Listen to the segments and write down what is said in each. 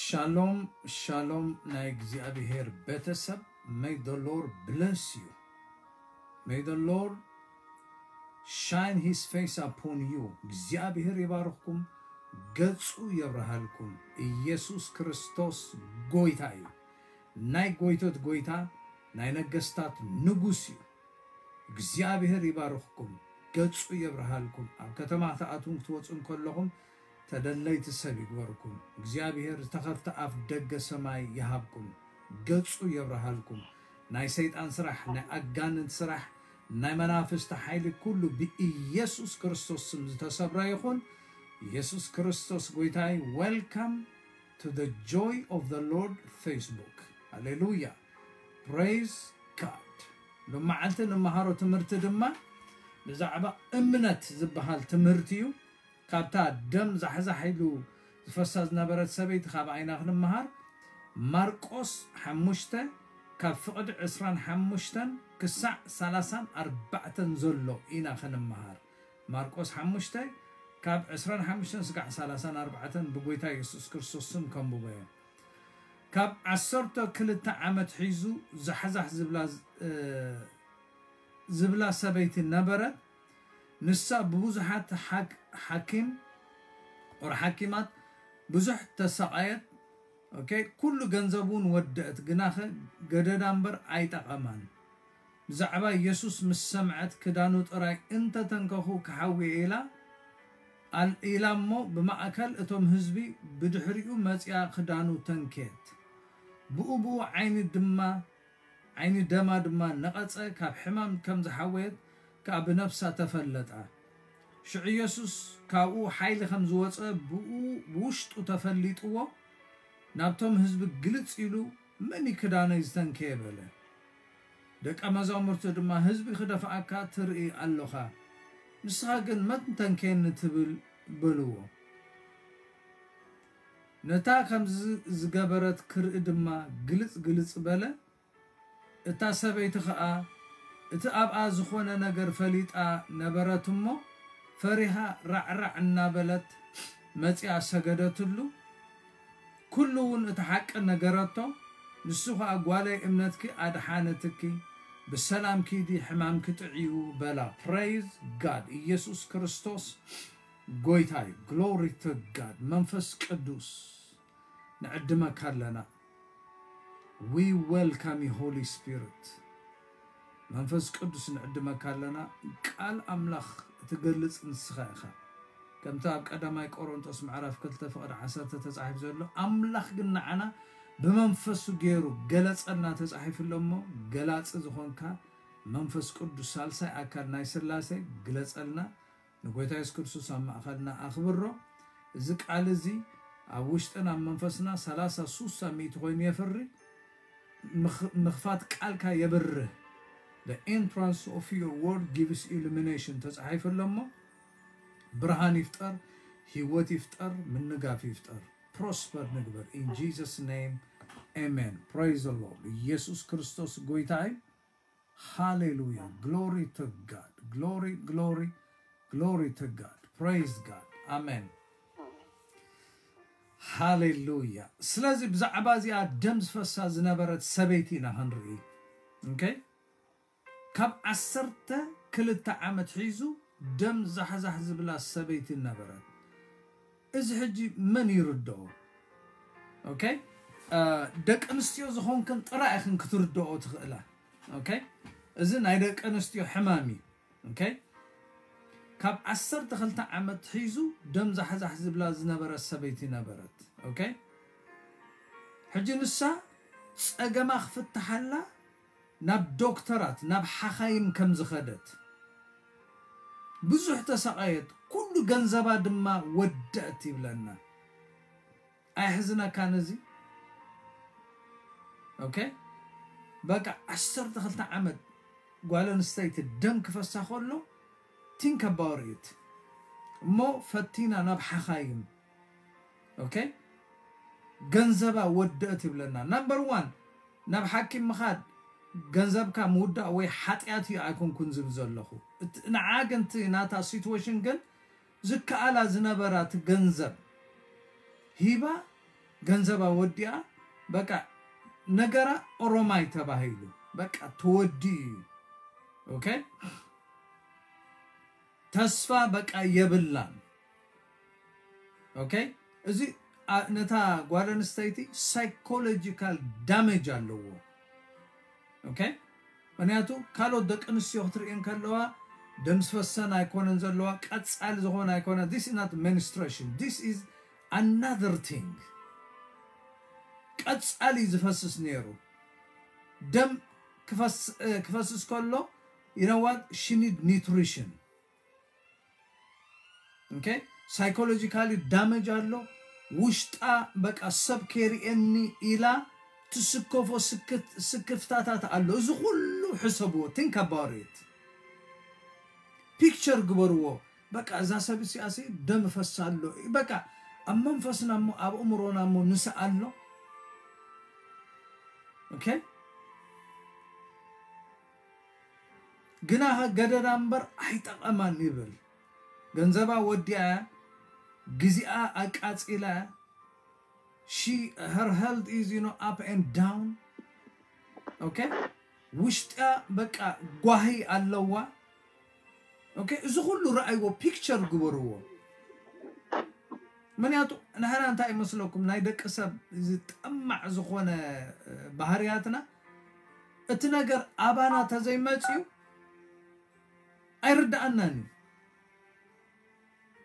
Shalom, shalom ናይ እግዚኣብሔር ቤተሰብ። May the Lord bless you. May the Lord shine his face upon you. እግዚኣብሔር ይባርኽኩም፣ ገጹ የብርሃልኩም። ኢየሱስ ክርስቶስ ጎይታ እዩ። ናይ ጎይቶት ጎይታ፣ ናይ ነገስታት ንጉስ እዩ። እግዚኣብሔር ይባርኽኩም፣ ገጹ የብርሃልኩም። ኣብ ከተማ ክትኣትዉን ክትወጹን ከለኹም ተደለይቲ ሰብ ይግበርኩም። እግዚኣብሔር ዝተኸፍተ ኣፍ ደገ ሰማይ ይሃብኩም፣ ገጹ የብርሃልኩም። ናይ ሰይጣን ስራሕ፣ ናይ ኣጋንንት ስራሕ፣ ናይ መናፍስቲ ሓይሊ ኩሉ ብኢየሱስ ክርስቶስ ስም ዝተሰብረ ይኹን። ኢየሱስ ክርስቶስ ጎይታይ። Welcome to the Joy of the Lord Facebook. ሃሌሉያ። Praise God። ሎመዓልቲ ንመሃሮ ትምህርቲ ድማ ብዛዕባ እምነት ዝበሃል ትምህርቲ እዩ። ካብታ ደም ዛሕዛሕ ኢሉ ዝፈሳ ዝነበረት ሰበይቲ ካብ ዓይና ክንመሃር። ማርቆስ ሓሙሽተ ካብ ፍቕዲ ዕስራን ሓሙሽተን ክሳዕ ሰላሳን ኣርባዕተን ዘሎ ኢና ክንመሃር። ማርቆስ ሓሙሽተ ካብ ዕስራን ሓሙሽተን ስጋዕ ሰላሳን ኣርባዕተን ብጎይታ የሱስ ክርስቶስ ስም ከንብቦ እየ። ካብ ዓሰርተ ክልተ ዓመት ሒዙ ዛሕዛሕ ዝብላ፣ እ፣ ዝብላ ሰበይቲ ነበረት። ንሳ ብብዙሓት ሓክ-፣ ሓኪም፣ ኦር ሓኪማት ብዙሕ ተሳቐየት። ኦኬ፣ ኩሉ ገንዘብ እውን ወደአት፣ ግናኸ ገደዳ እምበር ኣይጠቐማን። ብዛዕባ ኢየሱስ ምስ ሰምዐት፣ ክዳኑ ጥራይ እንተተንከኹ ክሓዊ እየ ኢላ፣ ኣል-፣ ኢላ እሞ ብማእከል እቶም ህዝቢ ብድሕሪኡ መጺኣ ክዳኑ ተንከየት። ብኡ ብኡ ዓይኒ ድማ፣ ዓይኒ ደማ ድማ ነቐጸ፣ ካብ ሕማም ከም ዝሓወየት ከኣ ብነፍሳ ተፈለጣ። ሽዑ ኢየሱስ ካብኡ ሓይሊ ከም ዝወጸ ብኡ ብውሽጡ ተፈሊጥዎ፣ ናብቶም ህዝቢ ግልጽ ኢሉ፣ "መን እዩ ክዳነይ ዝተንከየ?" በለ። ደቀ መዛሙርቱ ድማ፣ "ህዝቢ ክደፍኣካ ትርኢ ኣሎኻ፣ ንስኻ ግን መን ተንከየኒ ትብል?" በልዎ። ነታ ከምዚ ዝገበረት ክርኢ ድማ ግልጽ ግልጽ በለ። እታ ሰበይቲ ኸኣ እቲ ኣብኣ ዝኾነ ነገር ፈሊጣ ነበረት እሞ፣ ፈሪሃ ራዕራዕ እናበለት መጺኣ ሰገደትሉ። ኩሉ እውን እቲ ሓቂ ነገረቶ። ንሱ ኸኣ፣ "ጓለይ፣ እምነትኪ ኣድሓነትኪ፣ ብሰላም ኪዲ፣ ሕማምኪ ጥዕዩ" በላ። Praise God። ኢየሱስ ክርስቶስ ጎይታ እዩ። Glory to God። መንፈስ ቅዱስ ንዕድመካ ኣለና። We welcome you, Holy Spirit። መንፈስ ቅዱስ ንዕድመካ ኣለና። ቃል ኣምላኽ እትገልጽ ንስኻ ኢኻ። ከምቲ ኣብ ቀዳማይ ቆሮንጦስ ምዕራፍ ክልተ ፍቕዲ ዓሰርተ ተጻሒፉ ዘሎ፣ ኣምላኽ ግን ንዓና ብመንፈሱ ገይሩ ገለጸልና ተጻሒፉ ኣሎ እሞ፣ ገላጺ ዝኾንካ መንፈስ ቅዱስ፣ ሳልሳይ ኣካል ናይ ስላሴ፣ ግለጸልና። ንጎይታ የሱስ ክርስቶስ ኣብ ማእኸልና ኣኽብሮ። እዚ ቃል እዚ ኣብ ውሽጥን ኣብ መንፈስና ሰላሳ፣ ሱሳ፣ ሚእቲ ኮይኑ የፍሪ። ምኽ-፣ ምኽፋት ቃልካ የብርህ። "The entrance of your word gives illumination" ተጻሒፉ ኣሎ እሞ፣ ብርሃን ይፍጠር፣ ህይወት ይፍጠር፣ ምንጋፍ ይፍጠር። ፕሮስፐር ንግበር። In Jesus name, amen. Praise the Lord። ኢየሱስ ክርስቶስ ጎይታ እዩ። ሃሌሉያ። Glory to God። Glory, glory, glory to God. Praise God. ኣሜን። ሃሌሉያ። ስለዚ ብዛዕባ እዚኣ ደም ዝፈሳ ዝነበረት ሰበይቲ ኢና ክንርኢ። ኦኬ? ካብ ዓሰርተ ክልተ ዓመት ሒዙ ደም ዛሕዛሕ ዝብላ ሰበይቲ ነበረት። እዚ ሕጂ መን ይርድኦ? ኦኬ? እ፣ ደቂ ኣንስትዮ ዝኾንክን ጥራይ ኢኽን ክትርድኦ ትኽእላ። ኦኬ? እዚ ናይ ደቂ ኣንስትዮ ሕማም እዩ። ኦኬ? ካብ ዓሰርተ ክልተ ዓመት ሒዙ ደም ዛሕዛሕ ዝብላ ዝነበረት ሰበይቲ ነበረት። ኦኬ? ሕጂ ንሳ ጸገማ ክፍትሓላ ናብ ዶክተራት፣ ናብ ሓኻይም ከም ዝኸደት፣ ብዙሕ ተሰቓየት፣ ኩሉ ገንዘባ ድማ ወደአት ይብለና። ኣየሕዝነካን እዚ? ኦኬ? በቃ ዓሰርተ ክልተ ዓመት ጓል ኣንስተይቲ ደም ክፈሳ ከሎ፣ think about it። እሞ ፈቲና ናብ ሓኻይም። ኦኬ? ገንዘባ ወደአት ይብለና። ናምበር ዋን፣ ናብ ሓኪም ምኻድ ገንዘብካ ምውዳእ ወይ ሓጢኣት እዩ ኣይኮንኩን ዝብል ዘለኹ። እቲ ንዓ ግን እቲ ናታ ሲትዌሽን ግን ዝከኣላ ዝነበራ እቲ ገንዘብ ሂባ ገንዘባ ወዲኣ በቃ ነገራ ኦሮማይ ተባሂሉ በቃ ተወዲኡ እዩ። ኦኬ ተስፋ በቃ የብላን። ኦኬ እዚ ነታ ጓል ኣንስተይቲ psychological damage ኣለዎ። ኦኬ ምክንያቱ ካልኦት ደቂ ኣንስትዮ ክትርእየን ከለዋ ደም ዝፈሰን ኣይኮነን ዘለዋ ቀጻሊ ዝኾነ ኣይኮነ። This is not menstruation, this is another thing። ቀጻሊ ዝፈስስ ነይሩ ደም ክፈስስ ከሎ you know what she need nutrition። ኦኬ psychologically damage ኣሎ። ውሽጣ በቃ ሰብ ከይርእየኒ ኢላ ትስከፎ ስክፍታታት ኣሎ። እዚ ኩሉ ሕሰብዎ፣ think about it። Picture ግበርዎ። በቃ እዛ ሰብ እሲኣሲ ደም ፈሳ ኣሎ። በቃ ኣብ መንፈስና እሞ ኣብ እምሮና እሞ ንስኣ ኣሎ። ኦኬ ግና ገደዳ እምበር ኣይጠቐማን ይብል። ገንዘባ ወዲኣ ግዜኣ ኣቃጺላ she her health is you know up and down። ኦኬ ውሽጣ በቃ ጓሂ ኣለዋ። ኦኬ እዚ ኩሉ ረኣይዎ picture ግበርዎ። ምክንያቱ ንሕና እንታይ ይመስለኩም ናይ ደቂ ሰብ ዝጠማዕ ዝኾነ ባህርያትና እቲ ነገር ኣባና ተዘይመፅዩ ኣይርዳኣናን እዩ።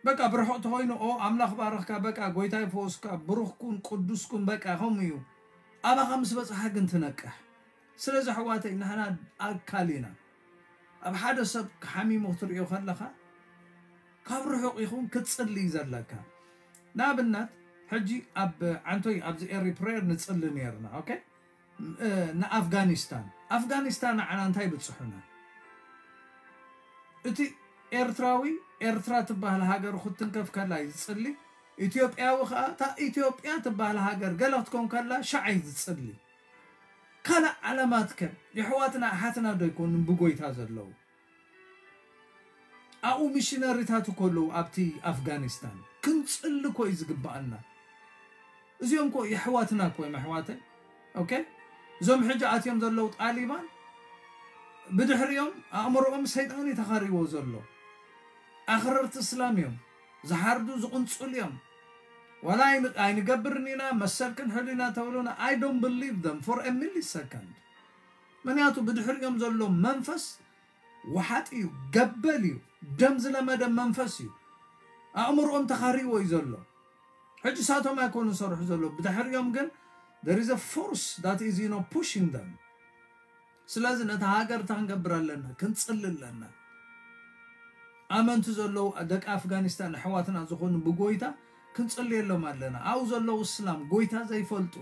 በቃ ብርሑቕ ተኾይኑ ኦ ኣምላኽ ባረኽካ በቃ ጎይታ ይፈወስካ ብሩኽኩን ቅዱስኩን በቃ ከምኡ እዩ። ኣባኻ ምስ በፅሓ ግን ትነቅሕ። ስለዚ ኣሕዋተይ ንሕና ኣካል ኢና። ኣብ ሓደ ሰብ ሓሚሙ ክትርእዮ ከለኻ ካብ ርሑቕ ይኹን ክትፅሊ እዩ ዘለካ። ንኣብነት ሕጂ ኣብ ዓንቶይ ኣብዚ ኤሪ ፕሬየር ንፅሊ ነርና። ኦኬ ንኣፍጋኒስታን ኣፍጋኒስታን ንዓና እንታይ ይብፅሑና? እቲ ኤርትራዊ ኤርትራ ትበሃል ሃገር ክትንከፍ ከላ እዩ ዝፅሊ። ኢትዮጵያዊ ከዓ እታ ኢትዮጵያ ትበሃል ሃገር ገለ ክትኮን ከላ ሻዕ እዩ ዝፅሊ። ካልእ ዓለማት ከ የሕዋትና ኣሓትና ዶ ኣይኮኑን ብጎይታ ዘለዉ? ኣብኡ ሚሽነሪታት እኮ ኣለዉ ኣብቲ ኣፍጋኒስታን። ክንፅሊ እኮ እዩ ዝግበኣና። እዚኦም እኮ የሕዋትና እኮ እዮም ኣሕዋተይ። ኦኬ እዞም ሕጂ ኣትዮም ዘለዉ ጣሊባን ብድሕሪኦም ኣእምሮኦም ሰይጣን እዩ ተኻሪዎ ዘሎ። ኣኽረርቲ እስላም እዮም። ዝሓርዱ ዝቕንፅሉ እዮም። ዋላ ኣይንገብርን ኢና መሰል ክንሕሉ ኢና ተብሉና I don't believe them for a millisecond። ምክንያቱ ብድሕሪኦም ዘሎ መንፈስ ወሓጥ እዩ፣ ገበል እዩ፣ ደም ዝለመደ መንፈስ እዩ። ኣእምሮኦም ተኻሪዎ እዩ ዘሎ። ሕጂ ሳቶም ኣይኮኑ ዝሰርሑ ዘሎ ብድሕሪኦም ግን there is a force that is you know pushing them። ስለዚ ነታ ሃገር እንታይ ክንገብር ኣለና? ክንፅሊ ኣለና። ኣመንቲ ዘለዉ ደቂ ኣፍጋኒስታን ኣሕዋትና ዝኾኑ ብጎይታ ክንፅልየሎም ኣለና። ኣብኡ ዘለዉ እስላም ጎይታ ዘይፈልጡ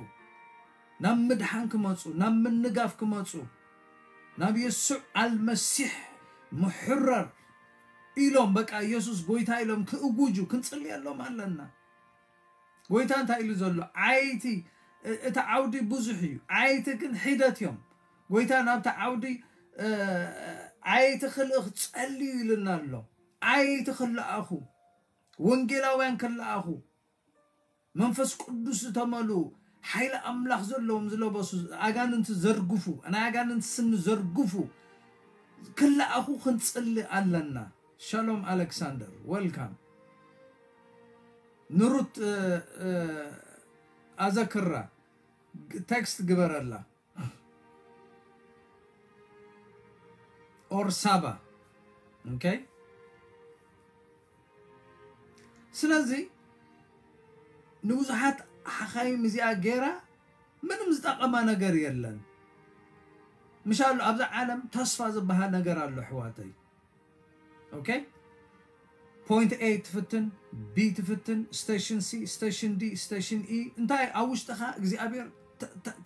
ናብ ምድሓን ክመፁ ናብ ምንጋፍ ክመፁ ናብ የሱዕ ኣልመሲሕ ምሕረር ኢሎም በቃ ኢየሱስ ጎይታ ኢሎም ክእውጁ ክንፅልየሎም ኣለና። ጎይታ እንታይ ኢሉ ዘሎ? ዓይቲ እቲ ዓውዲ ብዙሕ እዩ፣ ዓይቲ ግን ሒደት እዮም። ጎይታ ናብቲ ዓውዲ ዓይቲ ክልእኽ ጸልዩ ኢሉና ኣሎ። ዓይቲ ክለኣኹ፣ ወንጌላውያን ክለኣኹ፣ መንፈስ ቅዱስ ዝተመልኡ፣ ሓይሊ ኣምላኽ ዘለዎም ዝለበሱ፣ ኣጋንንቲ ዘርግፉ፣ ናይ ኣጋንንቲ ስኒ ዘርግፉ ክለኣኹ ክንጽሊ ኣለና። ሻሎም ኣሌክሳንደር፣ welcome። ንሩት ኣዘክራ፣ ቴክስት ግበረላ። ኦር ሳባ። ኦኬ፣ ስለዚ ንብዙሓት ሓኻይም እዚኣ ገይራ ምንም ዝጠቐማ ነገር የለን። ምሻሉ ኣብዛ ዓለም ተስፋ ዝበሃል ነገር ኣሎ ኣሕዋተይ። ኦኬ፣ ፖይንት ኤ ትፍትን፣ ቢ ትፍትን፣ ስቴሽን ሲ፣ ስቴሽን ዲ፣ ስቴሽን ኢ፣ እንታይ ኣብ ውሽጥኻ እግዚኣብሔር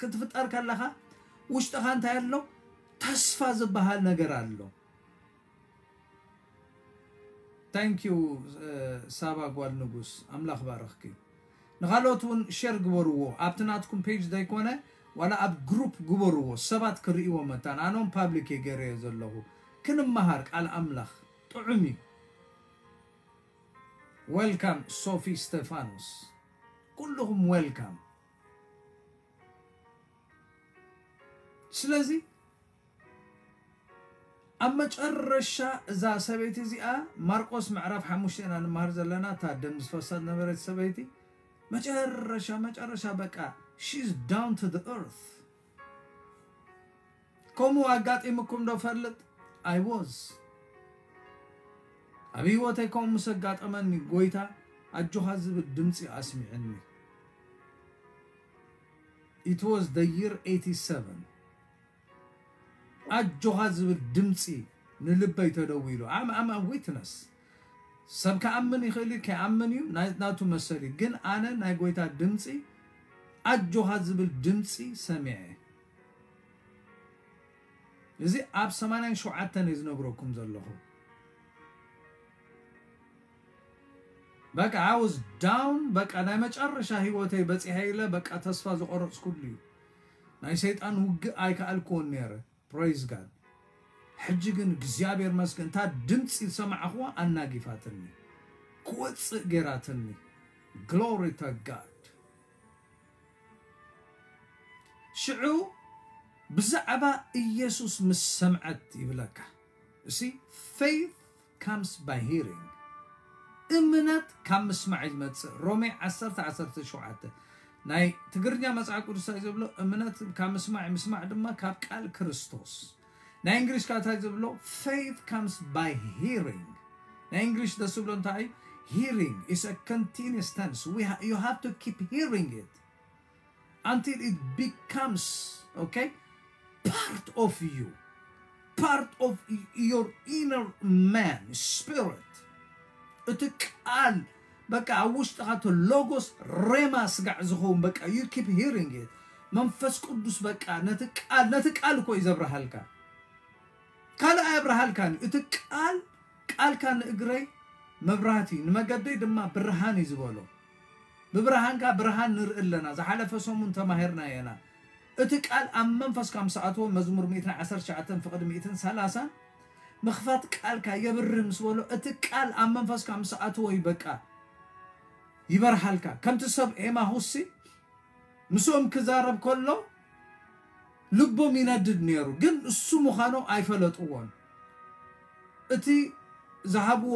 ክትፍጠር ከለኻ ውሽጥኻ እንታይ ኣሎ? ተስፋ ዝበሃል ነገር ኣሎ። ታንክ ዩ ሳባ ጓል ንጉስ፣ ኣምላኽ ባረኽኪ። ንኻልኦት እውን ሼር ግበርዎ፣ ኣብቲ ናትኩም ፔጅ ዘይኮነ ዋላ ኣብ ግሩፕ ግበርዎ፣ ሰባት ክርእይዎ መታን። ኣነ እውን ፓብሊክ እየ ገይረዮ ዘለኹ። ክንመሃር ቃል ኣምላኽ ጥዑም እዩ። ዌልካም ሶፊ ስቴፋኖስ፣ ኩልኹም ዌልካም። ስለዚ ኣብ መጨረሻ እዛ ሰበይቲ እዚኣ፣ ማርቆስ ምዕራፍ ሓሙሽተ ኢና ንመሃር ዘለና፣ እታ ደም ዝፈሳ ዝነበረት ሰበይቲ፣ መጨረሻ መጨረሻ በቃ she's down to the earth። ከምኡ ኣጋጢምኩም ዶ ፈልጥ? I was ኣብ ህይወተይ ከምኡ ምስ ኣጋጠመኒ፣ ጎይታ ኣጆኻ ዝብል ድምፂ ኣስሚዕኒ። It was the year eighty-seven። ኣጆኻ ዝብል ድምፂ ንልበይ ተደዊሉ። I'm, I'm a witness። ሰብ ክኣምን ይኽእል እዩ፣ ከይኣምን እዩ፣ ናይ- ናቱ መሰል እዩ። ግን ኣነ ናይ ጎይታ ድምፂ፣ ኣጆኻ ዝብል ድምፂ ሰሚዐ። እዚ ኣብ ሰማንያን ሸውዓተን እየ ዝነግረኩም ዘለኹ። በቃ I was down። በቃ ናይ መጨረሻ ህይወተይ በፂሐ ኢለ በቃ ተስፋ ዝቆረፅኩሉ እዩ። ናይ ሰይጣን ውግእ ኣይከኣልክዎን ነይረ። Praise God። ሕጂ ግን እግዚኣብሔር መስገን፣ እታ ድምፂ ዝሰማዕኽዋ ኣናጊፋትኒ፣ ክወፅእ ገይራትኒ። Glory to God። ሽዑ ብዛዕባ ኢየሱስ ምስ ሰምዐት ይብለካ። እሲ faith comes by hearing። እምነት ካብ ምስማዕ እዩ ዝመጽእ። ሮሜ ዓሰርተ ዓሰርተ ሸውዓተ። ናይ ትግርኛ መጽሓፍ ቅዱስ እንታይ ዝብሎ? እምነት ካብ ምስማዕ፣ ምስማዕ ድማ ካብ ቃል ክርስቶስ። ናይ እንግሊሽ ከ እንታይ ዝብሎ? Faith comes by hearing። ናይ እንግሊሽ ደስ ዝብሎ እንታይ? Hearing is a continuous tense. We ha- you have to keep hearing it until it becomes, okay, part of you, part of y- your inner man, spirit. እቲ ቃል በቃ ኣብ ውሽጥኻ እቲ ሎጎስ ሬማ ስጋዕ ዝኸውን በቃ you keep hearing it። መንፈስ ቅዱስ በቃ ነቲ ቃል ነቲ ቃል እኮ እዩ ዘብርሃልካ። ካልእ ኣየብርሃልካን እዩ። እቲ ቃል ቃልካ ንእግረይ መብራህቲ ንመገደይ ድማ ብርሃን እዩ ዝበሎ። ብብርሃንካ ብርሃን ንርኢ ኣለና። ዝሓለፈ ሰሙን ተማሂርና የና። እቲ ቃል ኣብ መንፈስካ ምስ ኣተወ፣ መዝሙር ሚእትን ዓሰርተ ትሽዓተን ፍቕዲ ሚእትን ሰላሳን፣ ምኽፋት ቃልካ የብርህ ምስ በሎ፣ እቲ ቃል ኣብ መንፈስካ ምስ ኣተወ እዩ በቃ ይበርሃልካ። ከምቲ ሰብ ኤማሁሲ ምስኦም ክዛረብ ከሎ ልቦም ይነድድ ነይሩ፣ ግን እሱ ምዃኑ ኣይፈለጥዎን። እቲ ዝሃብዎ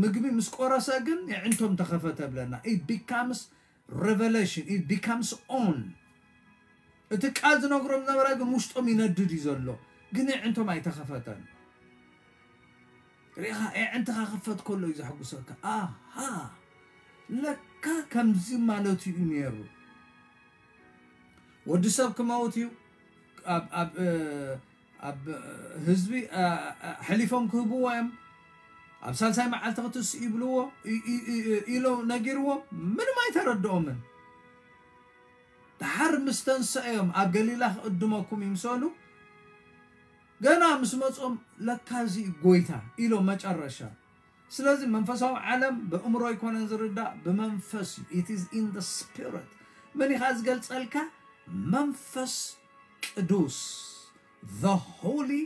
ምግቢ ምስ ቆረሰ ግን የዕንቶም ተኸፈተ ብለና። It becomes revelation, it becomes on። እቲ ቃል ዝነግሮም ነበረ ግን ውሽጦም ይነድድ እዩ ዘሎ፣ ግን የዕንቶም ኣይተኸፈተን። ሪኻ የዕንትኻ ክፈት ከሎ እዩ ዘሐጉሰካ። ኣሃ፣ ለካ ከምዚ ማለት እዩ ነይሩ። ወዲ ሰብ ክመውት እዩ። ኣብ ኣብ ኣብ ህዝቢ ሕሊፎም ክህብዎ እዮም። ኣብ ሳልሳይ መዓልቲ ክትስእ ይብልዎ ኢሎ ነጊርዎም። ምንም ኣይተረድኦምን። ድሓር ምስ ተንሰእዮም ኣብ ገሊላ ክእድመኩም ይምሰሉ። ገና ምስ መጾም ለካ እዚ ጎይታ ኢሎም መጨረሻ። ስለዚ መንፈሳዊ ዓለም ብእምሮ ኣይኮነን ዝርዳእ፣ ብመንፈስ እዩ። It is in the spirit። መን ኢኻ ዝገልጸልካ? መንፈስ ቅዱስ፣ the Holy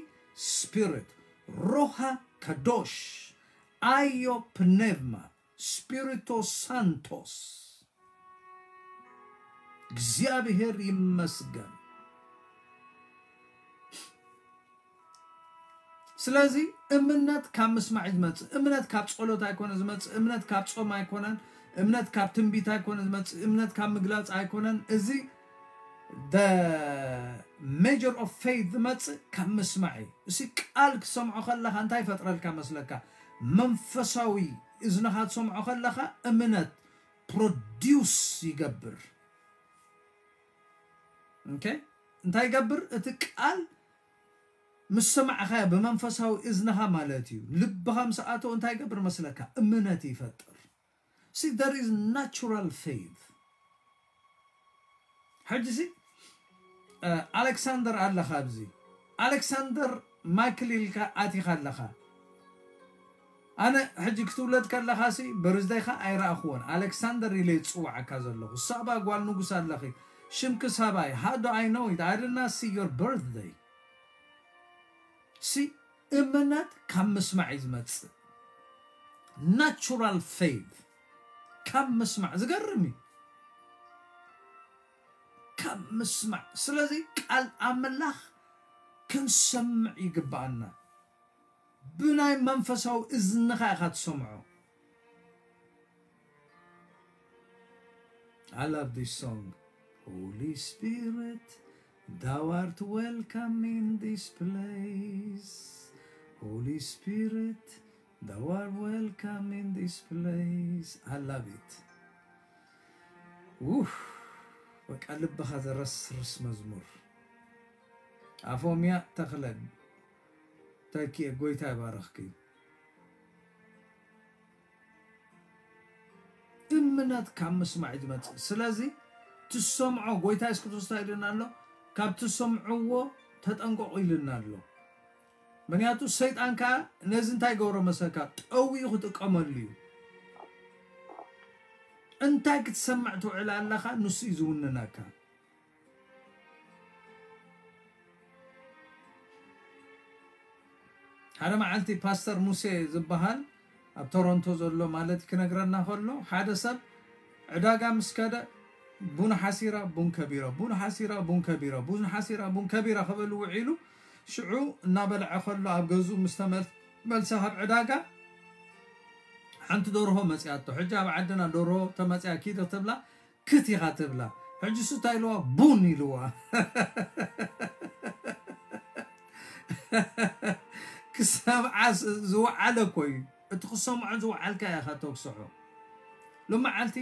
Spirit፣ ሮሃ ከዶሽ፣ ኣዮ ፕኔቭማ፣ ስፒሪቶ ሳንቶስ። እግዚኣብሔር ይመስገን። ስለዚ እምነት ካብ ምስማዕ እዩ ዝመጽእ። እምነት ካብ ጸሎት ኣይኮነ ዝመጽእ። እምነት ካብ ጾም ኣይኮነን። እምነት ካብ ትንቢት ኣይኮነ ዝመጽእ። እምነት ካብ ምግላጽ ኣይኮነን። እዚ the measure of faith ዝመጽእ ካብ ምስማዕ እዩ። እዚ ቃል ክሰምዖ ከለኻ እንታይ ይፈጥረልካ መስለካ? መንፈሳዊ እዝንኻ ትሰምዖ ከለኻ እምነት produce ይገብር። Okay? እንታይ ይገብር? እቲ ቃል ምስ ሰማዕኻዮ ብመንፈሳዊ እዝንኻ ማለት እዩ። ልብኻ ምስ ኣተወ እንታይ ይገብር መስለካ? እምነት ይፈጥር። See, there is natural faith። ሕጂ ሲ ኣሌክሳንደር ኣለኻ ኣብዚ። ኣሌክሳንደር ማይክል ኢልካ ኣቲኻ ኣለኻ። ኣነ ሕጂ ክትውለድ ከለኻ ሲ በርዝደይኻ ኣይረኣኽዎን። ኣሌክሳንደር ኢለ ዝጽዋዓካ ዘለኹ። ሳባ ጓል ንጉስ ኣለኺ። ሽምኪ ሳባይ። How do I know it? I did not see your birthday። ሲ እምነት ካብ ምስማዕ እዩ ዝመጽእ። Natural faith ካብ ምስማዕ። ዝገርም እዩ። ካብ ምስማዕ። ስለዚ ቃል ኣምላኽ ክንሰምዕ ይግብኣና። ብናይ መንፈሳዊ እዝንኻ ኢኻ ትሰምዖ። I love this song. Holy Spirit, thou art welcome in this place. Holy Spirit, thou art welcome in this place. I love it. ውፍ፣ በቃ ልብኻ ዘረስርስ መዝሙር። ኣፎምያ ተኽለ ተኪኤ፣ ጎይታ ይባረኽኪ። እምነት ካብ ምስማዕ እዩ ዝመጽእ። ስለዚ ትሰምዖ፣ ጎይታ የሱስ ክርስቶስ እንታይ ኢሉና ኣሎ? ካብ ትሰምዕዎ ተጠንቀቑ ኢሉና ኣሎ። ምክንያቱ ሰይጣን ከኣ ነዚ እንታይ ገብሮ መሰልካ? ጠዊኡ ክጥቀመሉ እዩ። እንታይ ክትሰምዕ ትውዕል ኣለኻ? ንሱ እዩ ዝውንነካ። ሓደ መዓልቲ ፓስተር ሙሴ ዝበሃል ኣብ ቶሮንቶ ዘሎ ማለት ክነግረና ከሎ፣ ሓደ ሰብ ዕዳጋ ምስ ከደ ቡን ሓሲራ ቡን ከቢራ፣ ቡን ሓሲራ ቡን ከቢራ፣ ቡን ሓሲራ ቡን ከቢራ ክብል ውዒሉ፣ ሽዑ እናበልዐ ከሎ ኣብ ገዝኡ ምስ ተመልሰ ካብ ዕዳጋ ሓንቲ ደርሆ መጺኣቶ። ሕጂ ኣብ ዓድና ደርሆ ተመጺኣ ኪድ ክትብላ ክት ኢኻ ትብላ። ሕጂ እሱ እንታይ ኢልዋ? ቡን ኢልዋ። ክሰምዓ ስ-፣ ዝወዓለ እኮ እዩ። እቲ ክሰምዖ ዝወዓልካ ኢኻ ተግስሖ። ሎመዓልቲ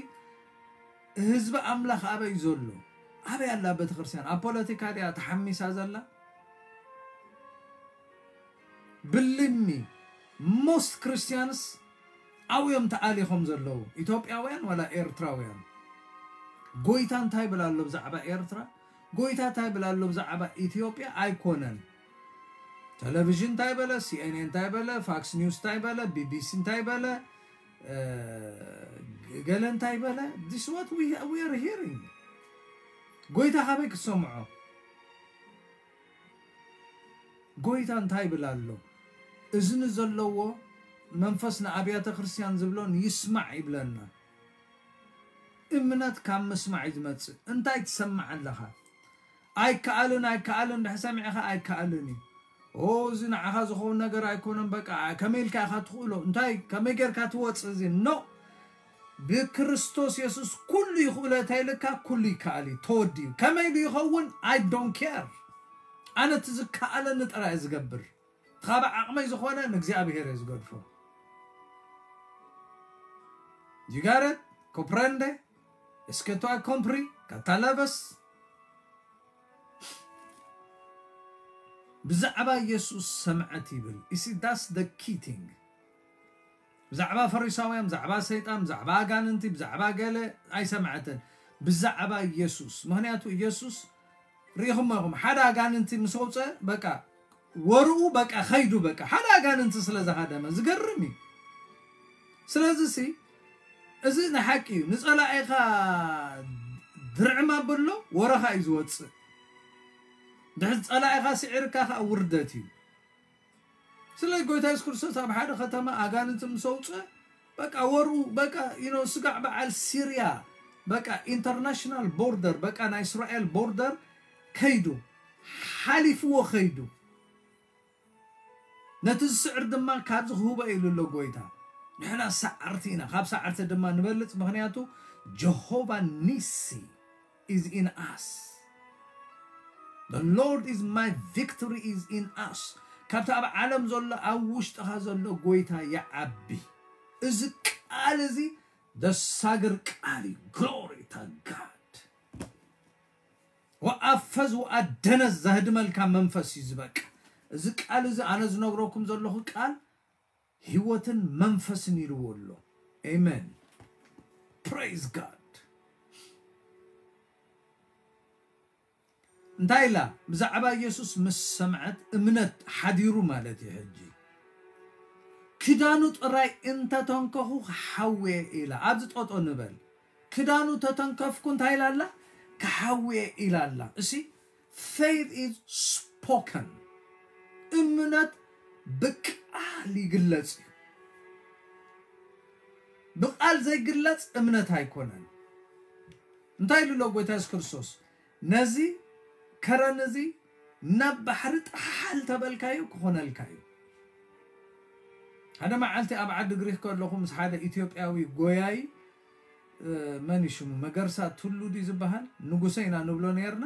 ህዝቢ ኣምላኽ ኣበይ ዘሎ? ኣበይ ኣላ ቤተክርስትያን? ኣብ ፖለቲካ ድያ ተሓሚሳ ዘላ? ብልሚ፣ most Christians ኣብዮም ተኣሊኾም ዘለዉ፣ ኢትዮጵያውያን ዋላ ኤርትራውያን። ጎይታ እንታይ ይብል ኣሎ ብዛዕባ ኤርትራ? ጎይታ እንታይ ይብል ኣሎ ብዛዕባ ኢትዮጵያ? ኣይኮነን። ቴሌቪዥን እንታይ በለ? ሲኤንኤን እንታይ በለ? ፋክስ ኒውስ እንታይ በለ? ቢቢሲ እንታይ በለ? እ፣ ገለ እንታይ በለ? This what we, we are hearing። ጎይታ ካበይ ክትሰምዖ? ጎይታ እንታይ ይብል ኣሎ? እዝኒ ዘለዎ መንፈስ ንኣብያተ ክርስቲያን ዝብሎን ይስማዕ ይብለና። እምነት ካብ ምስማዕ እዩ ዝመጽእ። እንታይ ትሰምዕ ኣለኻ? ኣይከኣልን፣ ኣይከኣልን፣ ድሕሪ ሰሚዕኻ ኣይከኣልን እዩ። ኦ፣ እዚ ንዓኻ ዝኸውን ነገር ኣይኮነን፣ በቃ፣ ከመይ ኢልካ ኢኻ ትኽእሎ? እንታይ፣ ከመይ ጌርካ ትወጽእ እዚ? ኖ፣ ብክርስቶስ የሱስ ኩሉ ይኽእሎ እንተ ኢልካ፣ ኩሉ ይከኣል እዩ፣ ተወዲኡ። ከመይ ኢሉ ይኸውን? I don't care። ኣነ እቲ ዝከኣለኒ ጥራይ እየ ዝገብር። ካብ ዓቕመይ ዝኾነ ንእግዚኣብሔር እየ ዝገድፎ። You got it? Comprende? Est-ce que tu as compris? Catalabas? ብዛዕባ የሱስ ሰምዐት ይብል። You see, that's the key thing። ብዛዕባ ፈሪሳውያን፣ ብዛዕባ ሰይጣን፣ ብዛዕባ ኣጋንንቲ፣ ብዛዕባ ገለ ኣይሰምዐትን። ብዛዕባ የሱስ። ምኽንያቱ የሱስ ርኢኹሞ ኢኹም፣ ሓደ ኣጋንንቲ ምስ ኣውፀ፣ በቃ፣ ወርኡ፣ በቃ፣ ኸይዱ፣ በቃ፣ ሓደ ኣጋንንቲ ስለ ዝሃደመ። ዝገርም እዩ። ስለዚ ሲ፣ እዚ ንሓቂ እዩ። ንጸላኢኻ ድርዕም ኣብሎ፣ ወረኻ እዩ ዝወጽእ። ድሕሪ ጸላኢኻ ስዒርካ ኸኣ ውርደት እዩ። ስለ ጎይታ የሱስ ክርስቶስ ኣብ ሓደ ከተማ ኣጋንንቲ ምስ ኣውጽአ፣ በቃ፣ ወርኡ፣ በቃ፣ you know፣ ስጋዕ በዓል ሲርያ፣ በቃ፣ ኢንተርናሽናል ቦርደር፣ በቃ፣ ናይ እስራኤል ቦርደር ከይዱ፣ ሓሊፍዎ ከይዱ። ነቲ ዝስዕር ድማ ካብዚ ክህቦ ኢሉ ኣሎ ጎይታ። ንሕና ሰዓርቲ ኢና፣ ካብ ሰዓርቲ ድማ ንበልጽ፣ ምኽንያቱ ጀሆቫ ኒሲ is in us። The Lord is my victory is in us። ካብቲ ኣብ ዓለም ዘሎ ኣብ ውሽጥኻ ዘሎ ጎይታ ይዓቢ። እዚ ቃል እዚ ዘሳግር ቃል እዩ። Glory to God። ወኣፈዝ ወኣደነዝ ዘህድመልካ መንፈስ እዩ ዝበቃ። እዚ ቃል እዚ ኣነ ዝነግረኩም ዘለኹ ቃል ህይወትን መንፈስን ኢልዎ ኣሎ። ኣሜን። Praise God። እንታይ ኢላ? ብዛዕባ ኢየሱስ ምስ ሰምዐት እምነት ሓዲሩ ማለት እዩ። ሕጂ ክዳኑ ጥራይ እንተተንከኹ ክሓውየ ኢላ። ኣብዚ ጠጦ ንበል። ክዳኑ ተተንከፍኩ እንታይ ኢላ ኣላ? ክሓውየ ኢላ ኣላ። እሲ faith is spoken። እምነት ብቃል ይግለጽ እዩ። ብቃል ዘይግለጽ እምነት ኣይኮነን። እንታይ ኢሉ ኣሎ ጎይታ የሱስ ክርስቶስ? ነዚ ከረን እዚ ናብ ባሕሪ ጣሓል ተበልካዩ ክኾነልካ እዩ። ሓደ መዓልቲ ኣብ ዓዲ ግሪክ ከለኹ ምስ ሓደ ኢትዮጵያዊ ጎያይ፣ እ፣ መን እዩ ሽሙ? መገርሳ ቱሉ ድዩ ዝበሃል? ንጉሰ ኢና ንብሎ ነርና።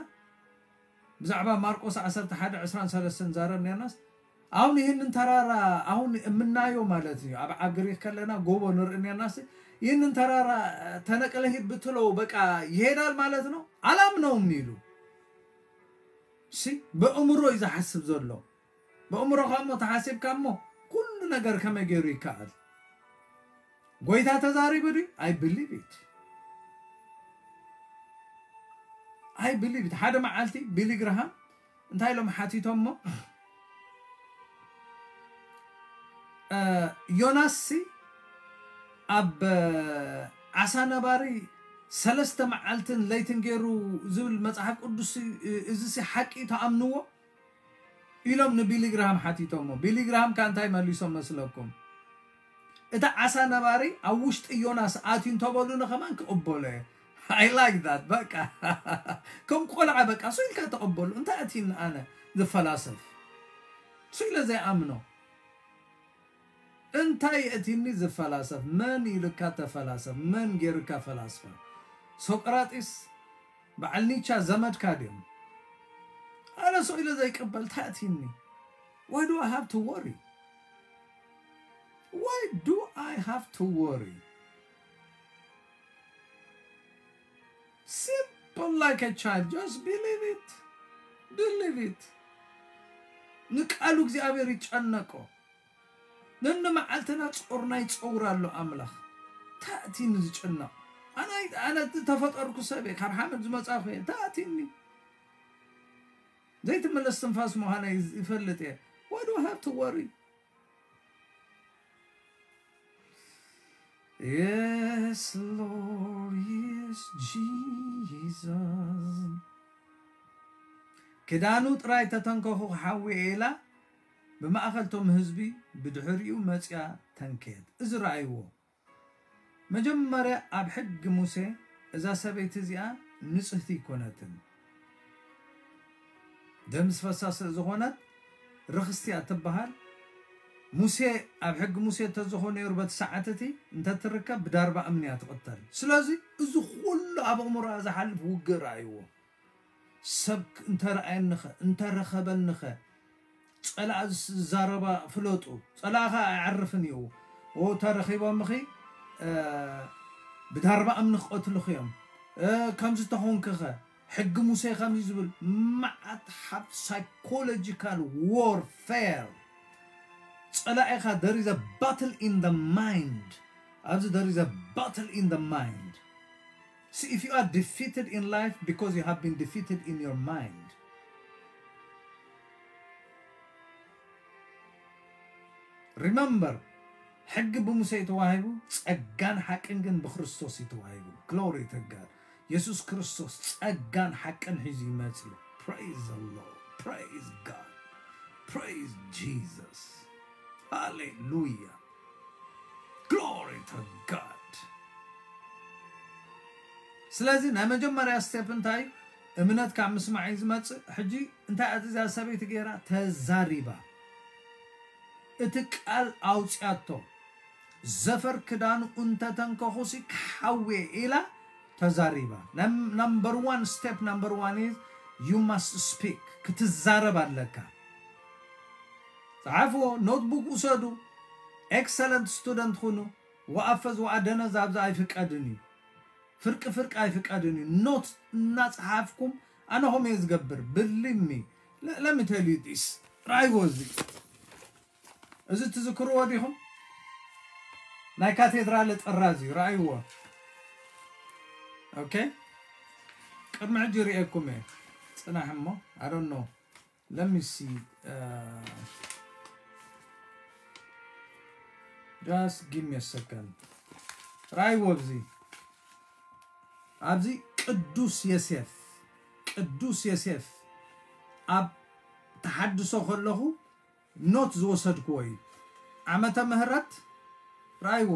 ብዛዕባ ማርቆስ ዓሰርተ ሓደ ዕስራን ሰለስተን ንዛረብ ነርናስ፣ አሁን ይህንን ተራራ አሁን የምናየው ማለት ነው። ኣብ፣ ኣብ ግሪክ ከለና ጎቦ ንርኢ ነርናስ፣ ይህንን ተራራ ተነቅለህ ሂድ ብትለው በቃ ይሄዳል ማለት ነው? አላምነውም ኢሉ። ሲ፣ በእምሮ እዩ ዝሓስብ ዘሎ። በእምሮኻ እሞ ተሓሲብካ እሞ ኩሉ ነገር ከመይ ገይሩ ይከኣል? ጎይታ ተዛሪቡ ድዩ? I believe it. I believe it. ሓደ መዓልቲ ቢሊ ግርሃም እንታይ ኢሎም ሓቲቶሞ? እ፣ ዮናስሲ ኣብ፣ እ፣ ዓሳ ነባሪ ሰለስተ መዓልትን ለይትን ገይሩ ዝብል መጽሓፍ ቅዱስ፣ እ፣ እዚሲ ሓቂ እዩ፣ ትኣምንዎ? ኢሎም ንቢሊ ግርሃም ሓቲቶሞ። ቢሊ ግርሃም ከ እንታይ መሊሶም መስለኩም? "እቲ ዓሳ ነባሪ ኣብ ውሽጢ ዮናስ ኣትዩ እንተበሉኒ ከማን ክቕበሎ እየ." I like that። በቃ ከም ቆልዓ በቃ ሱ ኢልካ ተቐበሉ። እንታይ ኣትዩኒ ኣነ ዝፈላሰፍ? ሱ ኢለ ዘይኣምኖ። እንታይ የእትኒ ዝፈላሰፍ? መን ኢልካ ተፈላሰፍ? መን ጌርካ ፈላስፋ? ሶቅራጢስ በዓል ኒቻ ዘመድካ ድዮም? ኣነ ሰው ኢለ ዘይቅበል እንታይ የእትኒ? Why do I have to worry? Why do I have to worry? Simple like a child, just believe it. Believe it. ንቃሉ እግዚኣብሔር ይጨነቆ። ነንመዓልትና ጾርና ይጸውር ኣሎ ኣምላኽ። ታእቲኒ ዝጭነቕ። ኣነ ኣይ-፣ ኣነ ተፈጠርኩ ሰብ እየ፣ ካብ ሓመድ ዝመጻኹ እየ። ታእቲኒ። ዘይትምለስ ትንፋስ ምዃነይ ይፈልጥ እየ። Why do I have to worry? Yes, Lord, yes, Jesus. ክዳኑ ጥራይ ተተንከኹ ክሓዊ ኢላ ብማእኸል ቶም ህዝቢ ብድሕሪኡ መጽያ ተንከየት። እዚ ረኣይዎ። መጀመርያ ኣብ ሕጊ ሙሴ እዛ ሰበይቲ እዚኣ ንጽህቲ ኣይኮነትን። ደም ዝፈሳ ስለ ዝኾነት ርኽስቲ እያ ትበሃል። ሙሴ ኣብ ሕጊ ሙሴ እንተዝኾ ነይሩ በቲ ሰዓት እቲ እንተትርከብ ብዳርባ እምኒ እያ ትቕተል። ስለዚ እዚ ኩሉ ኣብ ኣእምሮኣ ዝሓልፍ ውግእ ረኣይዎ። ሰብ እንተረኣየኒኸ፣ እንተረኸበኒኸ፣ ጸላእ ዝዛረባ ፍለጡ። ጸላእኻ ኣይዓርፍን እዩ። ኦ፣ ተረኺቦምኺ፣ እ፣ ብዳርባ እምኒ ክቐትልኺ እዮም። እ፣ ከምዚ ተኾንክኸ፣ ሕጊ ሙሴ ከምዚ ዝብል መዓት ሓፍ ሳይኮሎጂካል ዋርፌር። ጸላኢኻ፣ there is a battle in the mind። ኣብዚ there is a battle in the mind። See, if you are defeated in life because you have been defeated in your mind. Remember, ሕጊ ብሙሴ እዩ ተዋሂቡ፣ ጸጋን ሓቅን ግን ብክርስቶስ እዩ ተዋሂቡ። Glory to God። የሱስ ክርስቶስ ጸጋን ሓቅን ሒዙ ይመጽእ እዩ። Praise the Lord. Praise God. Praise Jesus. ሃሌሉያ። Glory to God። ስለዚ ናይ መጀመርያ ስቴፕ እንታይ እዩ? እምነት ካብ ምስማዕ እዩ ዝመጽእ። ሕጂ እንታይ እያ እዛ ሰበይቲ ገይራ? ተዛሪባ። እቲ ቃል ኣውጽያቶ። ዘፈር ክዳኑ እንተተንከኹሲ ክሓውየ ኢላ ተዛሪባ። Num-፣ number one step፣ number one is you must speak። ክትዛረብ ኣለካ። ጸሓፍዎ፣ ኖትቡክ ውሰዱ፣ ኤክሰለንት ስቱደንት ኩኑ። ወኣፈዝ ወኣደነዝ ኣብዚ ኣይፍቀድን እዩ። ፍርቂ ፍርቂ ኣይፍቀድን እዩ። ኖት እናጸሓፍኩም ኣነ ኸም እየ ዝገብር። Believe me። Let me tell you this። ራይዎ እዚ። እዚ ትዝክርዎ ዲኹም? ናይ ካቴድራል ጥራዝ እዩ። ራይዎ። ኦኬ። ቅድሚ ሕጂ ርእየኩም እየ። ጽናሕ እሞ። I don't know. Let me see. Uh, just give me a second. ራይዎ ኣብዚ። ኣብዚ ቅዱስ የሴፍ፣ ቅዱስ የሴፍ ኣብ ተሓድሶ ከለኹ ኖት ዝወሰድክዎ እዩ። ዓመተ ምህረት ራይዎ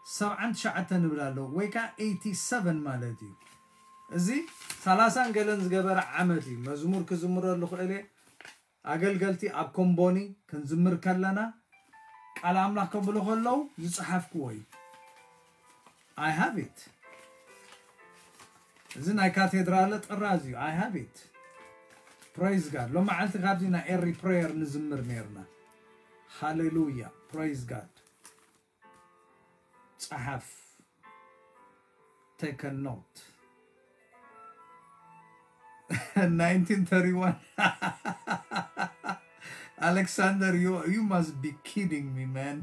ሰብዓን ትሽዓተን ንብል ኣለዉ፣ ወይ ከዓ ኤይቲ ሰቨን ማለት እዩ። እዚ ሰላሳን ገለን ዝገበረ ዓመት እዩ። መዝሙር ክዝምረሉ ክእል እየ። ኣገልገልቲ ኣብ ኮምቦኒ ክንዝምር ከለና ቃል ኣምላኽ ከብሉ ከለዉ ዝጸሓፍክዎ እዩ። I have it። እዚ ናይ ካቴድራለ ጥራዝ እዩ። I have it። Praise God። ሎም መዓልቲ ካብዚ ናይ ኤሪ ፕሬየር ንዝምር ነርና። ሃሌሉያ። Praise God። ጸሓፍ። Take a note. Nineteen thirty-one. Alexander, you, you must be kidding me, man.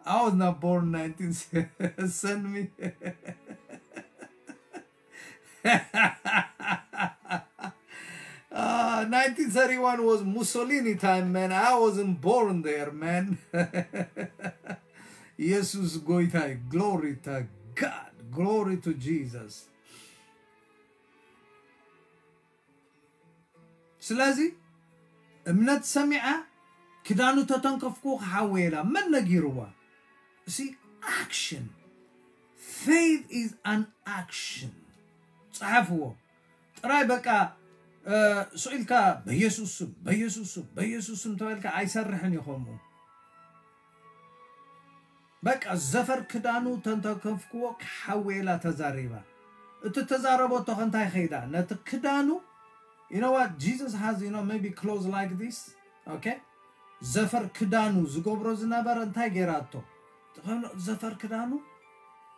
I was not born nineteen. Send me. Ah, nineteen thirty-one was Mussolini time, man. I wasn't born there, man. Jesus, ጎይታይ። Glory to God. Glory to Jesus. ስለዚ እምነት ሰሚዓ ክዳኑ ተተንከፍኩ ክሓወየላ መን ነጊርዋ? እሲ ኣክሽን። Faith is an action። ጸሓፍዎ። ጥራይ በቃ ስኢልካ በየሱስ ስም፣ በየሱስ ስም፣ በየሱስ ስም ተበልካ ኣይሰርሕን እዩ ከምኡ። በቃ ዘፈር ክዳኑ ተንተከፍክዎ ክሓወየላ ተዛሪባ። እቲ ተዛረበቶ ከንታይ ኸይዳ ነቲ ክዳኑ you know what? Jesus has, you know, maybe clothes like this. Okay? ዘፈር ክዳኑ ዝገብሮ ዝነበረ እንታይ ገይራቶ? ጥኸሎ ዘፈር ክዳኑ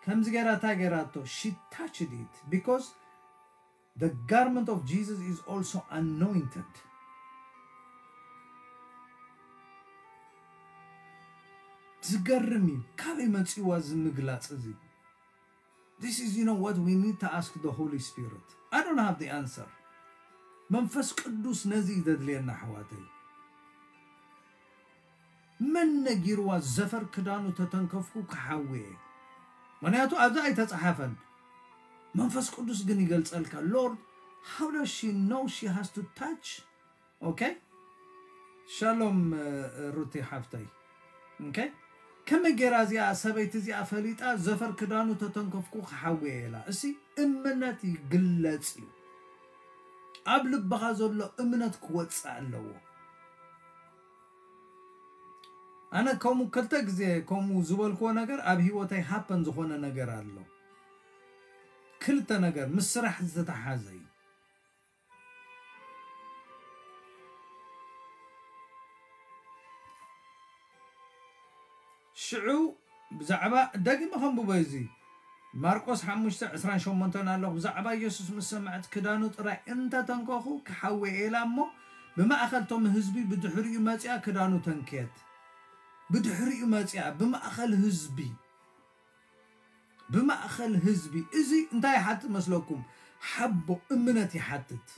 ከምዚ ገይራ እንታይ ገይራቶ? She touched it because the garment of Jesus is also anointed. ዝገርም እዩ። ካበይ መፂዋ እዚ ምግላፅ እዚ? This is, you know what, we need to ask the Holy Spirit. I don't have the answer. መንፈስ ቅዱስ ነዚ እዩ ዘድልየና ኣሕዋተይ። መን ነጊርዋ ዘፈር ክዳኑ ተተንከፍኩ ክሓውየ? ምክንያቱ ኣብዚ ኣይተጻሓፈን። መንፈስ ቅዱስ ግን ይገልጸልካ። Lord, how does she know she has to touch? Okay? ሻሎም ሩቲ ሓፍተይ። Okay? ከመይ ገይራ እዚኣ ሰበይቲ እዚኣ ፈሊጣ ዘፈር ክዳኑ ተተንከፍኩ ክሓውየ ኢላ? እሲ እምነት ይግለጽ እዩ። ኣብ ልብኻ ዘሎ እምነት ክወጽእ ኣለዎ። ኣነ ከምኡ ክልተ ግዜ ከምኡ ዝበልክዎ ነገር ኣብ ህይወተይ ሃፐን ዝኾነ ነገር ኣሎ። ክልተ ነገር ምስ ስራሕ ዝተተሓዘ እዩ። ሽዑ ብዛዕባ፣ ደጊመ ከንብቦ እዚ ማርቆስ ሓሙሽተ ዕስራን ሸሞንተን ኣሎ። ብዛዕባ ኢየሱስ ምስ ሰምዐት ክዳኑ ጥራይ እንተተንከኹ ክሓውየ ኢላ እሞ ብማእኸል ቶም ህዝቢ ብድሕሪኡ መጺኣ ክዳኑ ተንክየት። ብድሕሪኡ መጺኣ ብማእኸል ህዝቢ ብማእኸል ህዝቢ። እዚ እንታይ ይሓትት መስለኩም? ሓቦ እምነት ይሓትት።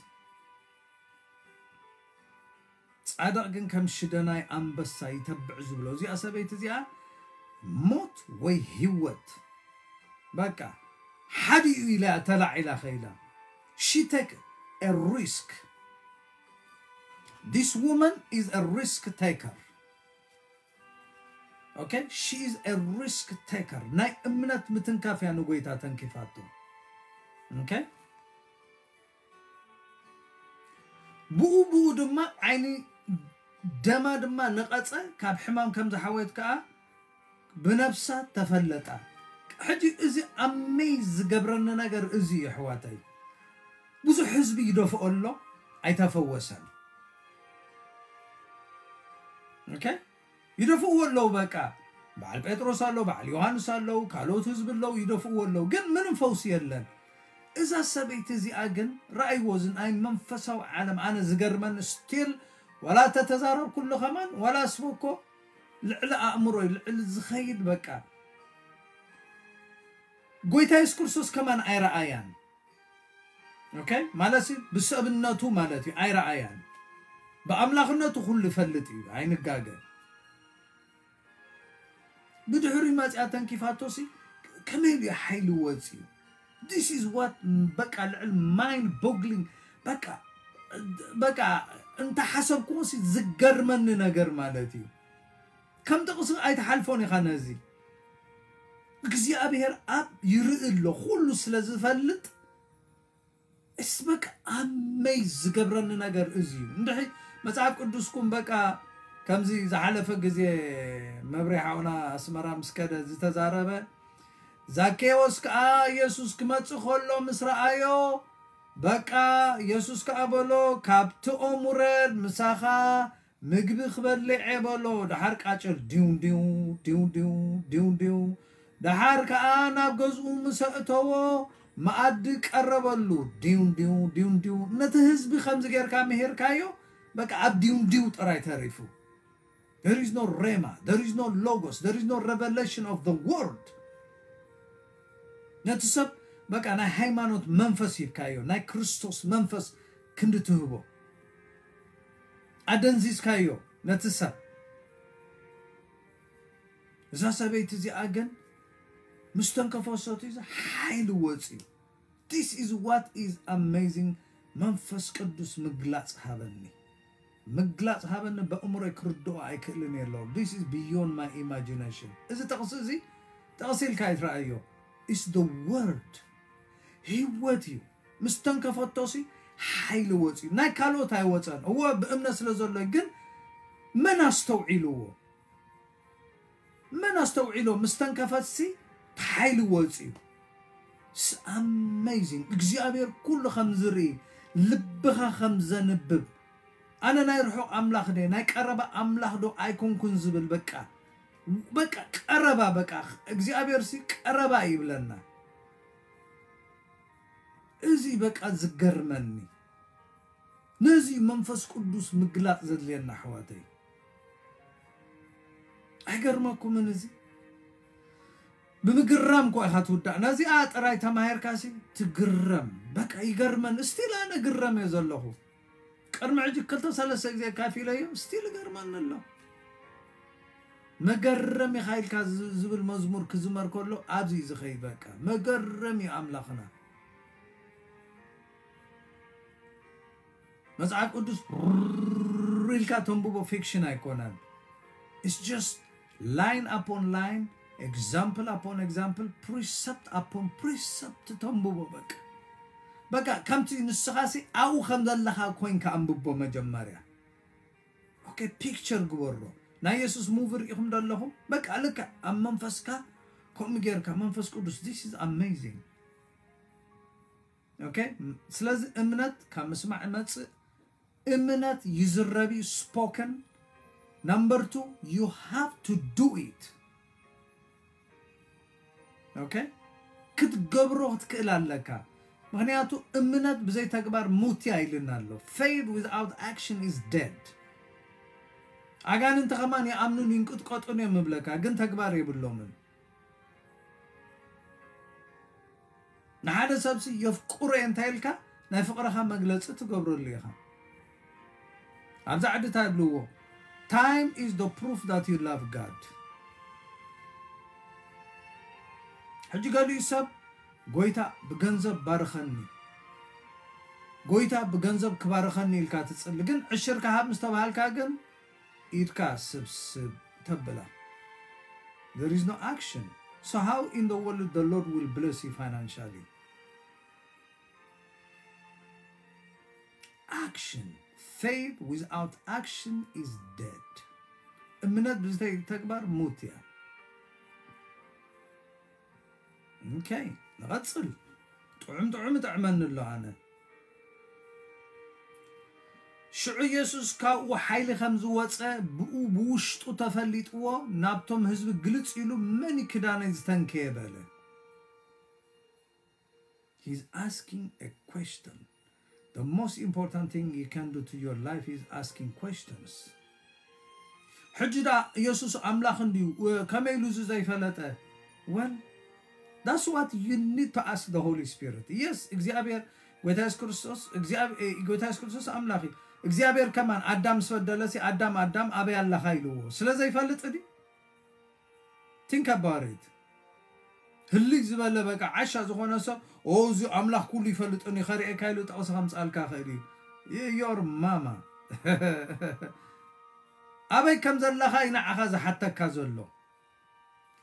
ጻድቕ ግን ከም ሽደናይ ኣንበሳ ይተብዕ ዝብሎ። እዚኣ ሰበይቲ እዚኣ ሞት ወይ ህይወት በቃ ሓዲኡ ኢላ ተላዒላ ኸይላ። She take a risk. This woman is a risk taker. Okay? She is a risk taker. ናይ እምነት ምትንካፍ እያ ንጎይታ ተንኪፋቶ። Okay? ብኡ ብኡ ድማ ዓይኒ ደማ ድማ ነቐጸ፣ ካብ ሕማም ከም ዝሓወየት ከኣ ብነብሳ ተፈለጣ። ሕጂ እዚ ኣመይ ዝገብረኒ ነገር እዚ እዩ ኣሕዋተይ። ብዙሕ ህዝቢ ይደፍኦ ኣሎ፣ ኣይተፈወሰን። Okay? ይደፍእዎ ኣለዉ። በቃ በዓል ጴጥሮስ ኣለዉ፣ በዓል ዮሃንስ ኣለዉ፣ ካልኦት ህዝቢ ኣለዉ፣ ይደፍእዎ ኣለዉ፣ ግን ምንም ፈውሲ የለን። እዛ ሰበይቲ እዚኣ ግን ረኣይዎ፣ እዚ ናይ መንፈሳዊ ዓለም ኣነ ዝገርመኒ ስቲል ዋላ ተተዛረብኩሉ ከማን ዋላ ስበኮ ልዕሊ ኣእምሮ ልዕሊ ዝኸይድ በቃ ጎይታ የሱስ ክርስቶስ ከማን ኣይረኣያን። Okay? ማለት ብሰብነቱ ማለት እዩ ኣይረኣያን። ብኣምላኽነቱ ኩሉ ይፈልጥ እዩ ኣይንጋገ። ብድሕሪ መጽያ ተንኪፋቶሲ ከመይ ኢሉ ሓይሊ ወጽዩ? This is what በቃ ልዕል mind boggling በቃ በቃ እንተ ሓሰብኩዎሲ ዝገርመኒ ነገር ማለት እዩ። ከም ጥቕሲ ኣይትሓልፎን ኢኻ ነዚ። እግዚኣብሔር ኣብ ይርኢ ኣሎ፣ ኩሉ ስለ ዝፈልጥ እስ በቃ ኣመይ ዝገብረኒ ነገር እዚ እዩ። እንድሕሪ መጽሓፍ ቅዱስኩም በቃ ከምዚ ዝሓለፈ ግዜ መብሬ ሓውና ኣስመራ ምስ ከደ ዝተዛረበ፣ ዛኬዎስ ከኣ ኢየሱስ ክመጽእ ከሎ ምስ ረኣዮ፣ በቃ ኢየሱስ ከኣ በሎ፣ "ካብቲ ኦም ውረድ፣ ምሳኻ ምግቢ ክበልዕ እየ" በሎ። ደሓር ቃጭል ዲው ዲው ዲው ዲው ዲው ዲው። ደሓር ከኣ ናብ ገዝኡ ምስ ኣእተዎ መኣዲ ቀረበሉ። ዲው ዲው ዲው ዲው። ነቲ ህዝቢ ከምዚ ጌርካ ምሂርካዮ፣ በቃ ኣብ ዲው ዲው ጥራይ ተሪፉ። There is no rhema, there is no logos, there is no revelation of the word. ነቲ ሰብ በቃ ናይ ሃይማኖት መንፈስ ሂብካዮ፣ ናይ ክርስቶስ መንፈስ ክንዲ ትህቦ ኣደንዚዝካዮ ነቲ ሰብ። እዛ ሰበይቲ እዚኣ ግን ምስ ተንከፈሰቱ እዚ ሓይሊ ወፅዩ። This is what is amazing። መንፈስ ቅዱስ ምግላፅ ሃበኒ፣ ምግላፅ ሃበኒ። በእምሮይ ክርድኦ ኣይክእልን የለዉ። This is beyond my imagination። እዚ ጥቕሲ እዚ ጥቕሲ ኢልካ ይትረኣዮ። Is the word። ህይወት እዩ። ምስ ተንከፈቶሲ ሓይሊ ወፅዩ። ናይ ካልኦት ኣይወፀን። እወ ብእምነት ስለ ዘሎ ግን መን ኣስተውዒልዎ? መን ኣስተውዒሎ? ምስ ተንከፈትሲ ሓይሊ ወፅዩ። It's amazing። እግዚኣብሔር ኩሉ ከም ዝርኢ፣ ልብኻ ከም ዘንብብ፣ ኣነ ናይ ርሑቕ ኣምላኽ ደ ናይ ቀረባ ኣምላኽ ዶ ኣይኮንኩን ዝብል በቃ በቃ ቀረባ በቃ እግዚኣብሔር ሲ ቀረባ ይብለና። እዚ በቃ ዝገርመኒ። ነዚ መንፈስ ቅዱስ ምግላፅ ዘድልየና ኣሕዋተይ። ኣይገርመኩምን? እዚ ብምግራም እኮ ኢኻ ትውዳእ። ነዚኣ ጥራይ ተማሂርካሲ ትግረም። በቃ ይገርመን። ስቲል ኣነ ግረም እየ ዘለኹ። ቅድሚ ሕጂ ክልተ ሰለስተ ግዜ ካፊለዮ ስቲል ይገርመኒ ኣሎ። መገረም ኢኻ ኢልካ ዝ- ዝብል መዝሙር ክዝመር ከሎ ኣብዚ እዩ ዝኸይድ። በቃ መገረም እዩ ኣምላኽና። መጽሓፍ ቅዱስ ሩር ኢልካ ተንብቦ ፊክሽን ኣይኮነን። It's just line upon line, example upon example, precept upon precept ተንብቦ። በቃ በቃ ከምቲ ንስኻሲ ኣብኡ ከም ዘለኻ ኮይንካ ኣንብቦ መጀመርያ። ኦኬ፣ ፒክቸር ግበሮ። ናይ የሱስ ሙቪ ርኢኹም ዶ ኣለኹም? በቃ ልክዕ ኣብ መንፈስካ ከምኡ ጌርካ መንፈስ ቅዱስ this is amazing። ኦኬ፣ ስለዚ እምነት ካብ ምስማዕ ይመጽእ። እምነት ይዝረብ እዩ፣ ስፖከን። Number two, you have to do it። ኦኬ፣ ክትገብሮ ክትክእል ኣለካ። ምክንያቱ እምነት ብዘይ ተግባር ሙት እያ ኢልና ኣሎ። Faith without action is dead። ኣጋንንቲ ከማን ይኣምኑን ይንቅጥቀጡን እዮም እብለካ፣ ግን ተግባር የብሎምን። ንሓደ ሰብሲ የፍቅሮ እየ እንታይ ኢልካ ናይ ፍቅርኻ መግለፂ ትገብረሉ ኢኻ። ኣብዛ ዓዲ እንታይ ይብልዎ? Time is the proof that you love God። ሕጂ ገሊኡ ሰብ ጎይታ ብገንዘብ ባርኸኒ፣ ጎይታ ብገንዘብ ክባርኸኒ ኢልካ ትጽሊ፣ ግን ዕሽር ክሃብ ምስ ተባሃልካ ግን ኢድካ ስብስብ ተብላ። There is no action. So how in the world the Lord will bless you financially? Action. Faith without action is dead. እምነት ብዝተይ ተግባር ሙት እያ። ኦኬ፣ ንቐጽል። ጥዑም ጥዑም እጥዕመኒ ኣሎ ኣነ። ሽዑ ኢየሱስ ካብኡ ሓይሊ ከም ዝወጸ ብኡ ብውሽጡ ተፈሊጥዎ ናብቶም ህዝቢ ግልጽ ኢሉ፣ "መን እዩ ክዳነይ ዝተንከየ?" በለ። He's asking a question. The most important thing you can do to your life is asking questions. ሕጂ ዳ ኢየሱስ ኣምላኽ እንድዩ፣ ከመይ ኢሉ እዚ ዘይፈለጠ? Well, that's what you need to ask the Holy Spirit. Yes, እግዚኣብሔር ጎይታ የሱስ ክርስቶስ፣ እግዚኣብ-፣ እ፣ ጎይታ የሱስ ክርስቶስ ኣምላኽ እዩ። እግዚኣብሔር ከማን ኣዳም ምስ በደለሲ፣ "ኣዳም፣ ኣዳም፣ ኣበይ ኣለኻ?" ኢልዎ። ስለ ዘይፈልጥ ድዩ? Think about it። ህልይ ዝበለ በቃ ዓሻ ዝኾነ ሰብ፣ "ኦ፣ እዚ ኣምላኽ ኩሉ ይፈልጥን እዩ፣ ከርእየካ" ኢሉ ጥቕሲ ከምጽኣልካ ይኽእል እዩ። ይ-፣ your mama። ኣበይ ከም ዘለኻ እዩ ንዓኻ ዝሓተካ ዘሎ።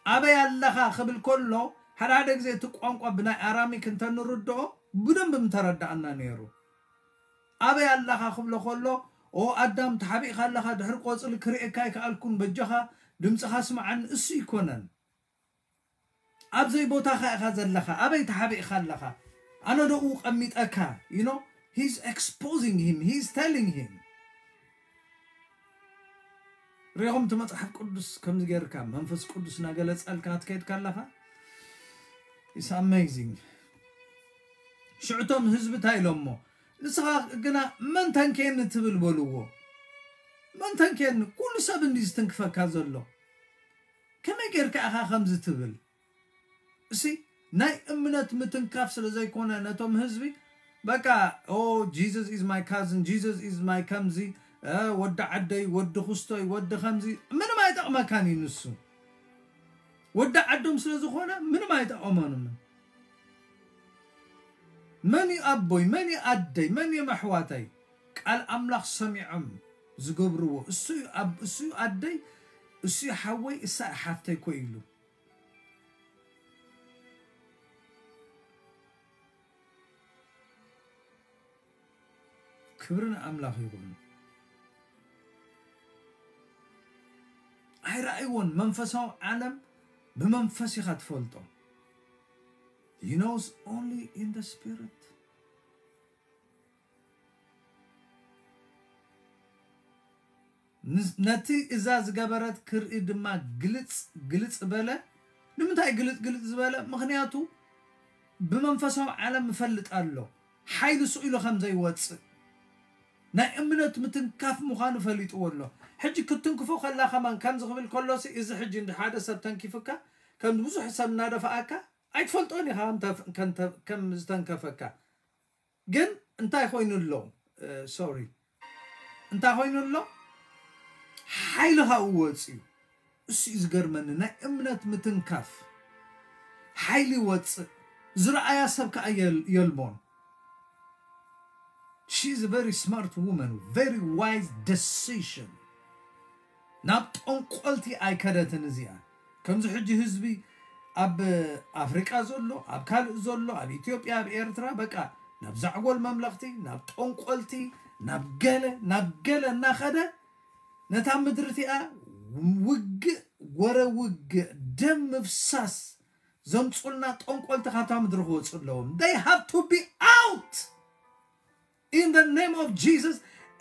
ኣበይ ኣለኻ ክብል ከሎ፣ ሓደ ሓደ ግዜ እቲ ቋንቋ ብናይ ኣራሚክ እንተ ንርድኦ፣ ብደንብ ምተረዳኣና ነይሩ። ኣበይ ኣለኻ ክብሎ ከሎ፣ ኦ ኣዳም፣ ተሓቢእካ ኣለኻ፣ ድሕሪ ቆጽሊ ክርእየካ ኣይከኣልኩን፣ በጃኻ ድምፅኻ ስምዓኒ፣ እሱ ይኮነን። ኣብ ዘይቦታኻ ኢኻ ዘለኻ፣ ኣበይ ተሓቢእካ ኣለኻ? ኣነ ደኡ ቀሚጠካ? You know, he's exposing him, he's telling him. ሪኹም እቲ መጽሓፍ ቅዱስ ከምዚ ጌርካ መንፈስ ቅዱስ እናገለጸልካ ክትከይድ ከለኻ፣ it's amazing። ሽዑቶም ህዝቢ እንታይ ኢሎሞ? ንስኻ ግና መን ተንኬኒ ትብል በልዎ። መን ተንኬኒ? ኩሉ ሰብ እንዲ ዝትንክፈካ ዘሎ። ከመይ ጌርካ ኢኻ ከምዚ ትብል? እሲ ናይ እምነት ምትንካፍ ስለ ዘይኮነ ነቶም ህዝቢ፣ በቃ፣ ኦ፣ Jesus is my cousin, Jesus is my ከምዚ፣ እ፣ ወዲ ዓደይ፣ ወዲ ክስቶይ፣ ወዲ ከምዚ፣ ምንም ኣይጠቕመካን እዩ ንሱ። ወዲ ዓዶም ስለ ዝኾነ ምንም ኣይጠቐመኑምን። መን እዩ ኣቦይ፣ መን እዩ ኣደይ፣ መን እዮም ኣሕዋተይ? ቃል ኣምላኽ ሰሚዖም ዝገብርዎ። እሱ እዩ ኣብ-፣ እሱ እዩ ኣደይ፣ እሱ እዩ ሓወይ፣ እሳ እያ ሓፍተይ እኮ ይብሉ። ክብሪ ንኣምላኽ ይኹን። ኣይረኣይዎን። መንፈሳዊ ዓለም ብመንፈስ ኢኻ ትፈልጦ። He knows only in the spirit. ን-፣ ነቲ እዛ ዝገበረት ክርኢ ድማ ግልጽ ግልጽ በለ። ንምንታይ ግልጽ ግልጽ ዝበለ? ምኽንያቱ ብመንፈሳዊ ዓለም ይፈልጥ ኣሎ፣ ሓይሊ ስቕ ኢሉ ከም ዘይወጽእ፣ ናይ እምነት ምትንካፍ ምዃኑ ፈሊጥዎ ኣሎ። ሕጂ ክትንክፎ ከላ ከማን ከምዚ ክብል ከሎሲ፣ እዚ ሕጂ እንዲ ሓደ ሰብ ተንኪፍካ፣ ከም ብዙሕ ሰብ እናደፋኣካ፣ ኣይትፈልጦን ኢኻ ከም ተፍ-፣ ከም ተ-፣ ከም ዝተንከፈካ። ግን እንታይ ኮይኑ ኣሎ? እ፣ ሶሪ። እንታይ ኮይኑ ኣሎ? ሓይሊ ካብኡ ወጽዩ። እሱ እዩ ዝገርመኒ፣ ናይ እምነት ምትንካፍ። ሓይሊ ይወጽእ። ዝረኣያ ሰብ ከኣ የል-፣ የልቦን። She is a very smart woman, very wise decision. ናብ ጠንቆልቲ ኣይከደትን እዚኣ። ከምዚ ሕጂ ህዝቢ ኣብ ኣፍሪቃ ዘሎ፣ ኣብ ካልእ ዘሎ፣ ኣብ ኢትዮጵያ፣ ኣብ ኤርትራ፣ በቃ ናብ ዛዕጎል መምለኽቲ፣ ናብ ጠንቆልቲ፣ ናብ ገለ፣ ናብ ገለ እናኸደ ነታ ምድሪ እቲኣ ውግእ፣ ወረ ውግእ፣ ደም ምፍሳስ ዘምጹልና ጠንቆልቲ ካብታ ምድሪ ክወጹ ኣለዎም። They have to be out in the name of Jesus.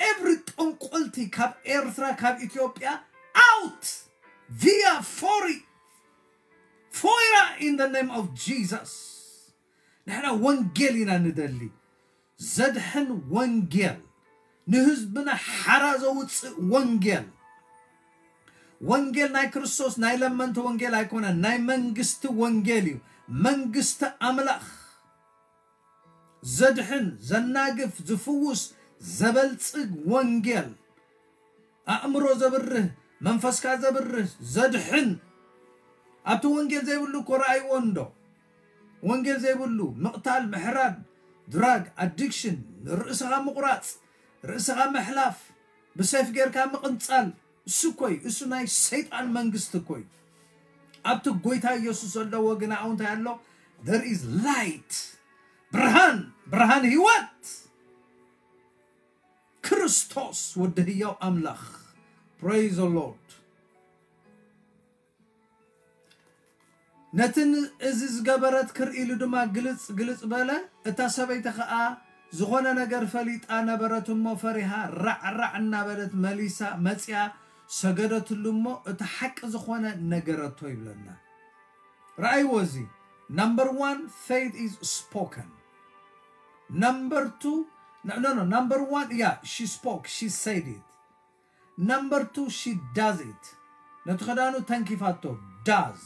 Every ጠንቆልቲ ካብ ኤርትራ፣ ካብ ኢትዮጵያ፣ out via ፎሪ፣ ፎይራ in the name of Jesus. ንሕና ወንጌል ኢና ንደሊ። ዘድሕን ወንጌል፣ ንህዝብና ሓራ ዘውፅእ ወንጌል። ወንጌል ናይ ክርስቶስ ናይ ለመንቲ ወንጌል ኣይኮነን፣ ናይ መንግስቲ ወንጌል እዩ። መንግስቲ ኣምላኽ ዘድሕን፣ ዘናግፍ፣ ዝፍውስ፣ ዘበልጽግ ወንጌል። ኣእምሮ ዘብርህ፣ መንፈስካ ዘብርህ፣ ዘድሕን። ኣብቲ ወንጌል ዘይብሉ እኮ ረኣይዎ እንዶ። ወንጌል ዘይብሉ ምቕታል፣ ምሕራድ፣ ድራግ ኣዲክሽን፣ ርእስኻ ምቑራጽ፣ ርእስኻ ምሕላፍ፣ ብሰይፍ ጌርካ ምቕንጻል፣ እሱ እኮ እዩ። እሱ ናይ ሰይጣን መንግስቲ እኮ እዩ። ኣብቲ ጎይታ ኢየሱስ ዘለዎ ግና እንታይ ኣሎ? There is light። ብርሃን፣ ብርሃን ህይወት። ክርስቶስ ወዲ ህያው ኣምላኽ። Praise the Lord። ነቲ ን-፣ እዚ ዝገበረት ክርኢ ኢሉ ድማ ግልጽ ግልጽ በለ። እታ ሰበይቲ ኸኣ ዝኾነ ነገር ፈሊጣ ነበረት እሞ ፈሪሃ ራዕራዕ እናበለት መሊሳ መጺኣ ሰገደትሉ እሞ እቲ ሓቂ ዝኾነ ነገረቶ ይብለና። ረኣይዎ እዚ። Number one, faith is spoken. Number two, no, no, no, number one, yeah, she spoke, she said it. Number two, she does it. ነቲ ክዳኑ ተንኪፋቶ፣ does,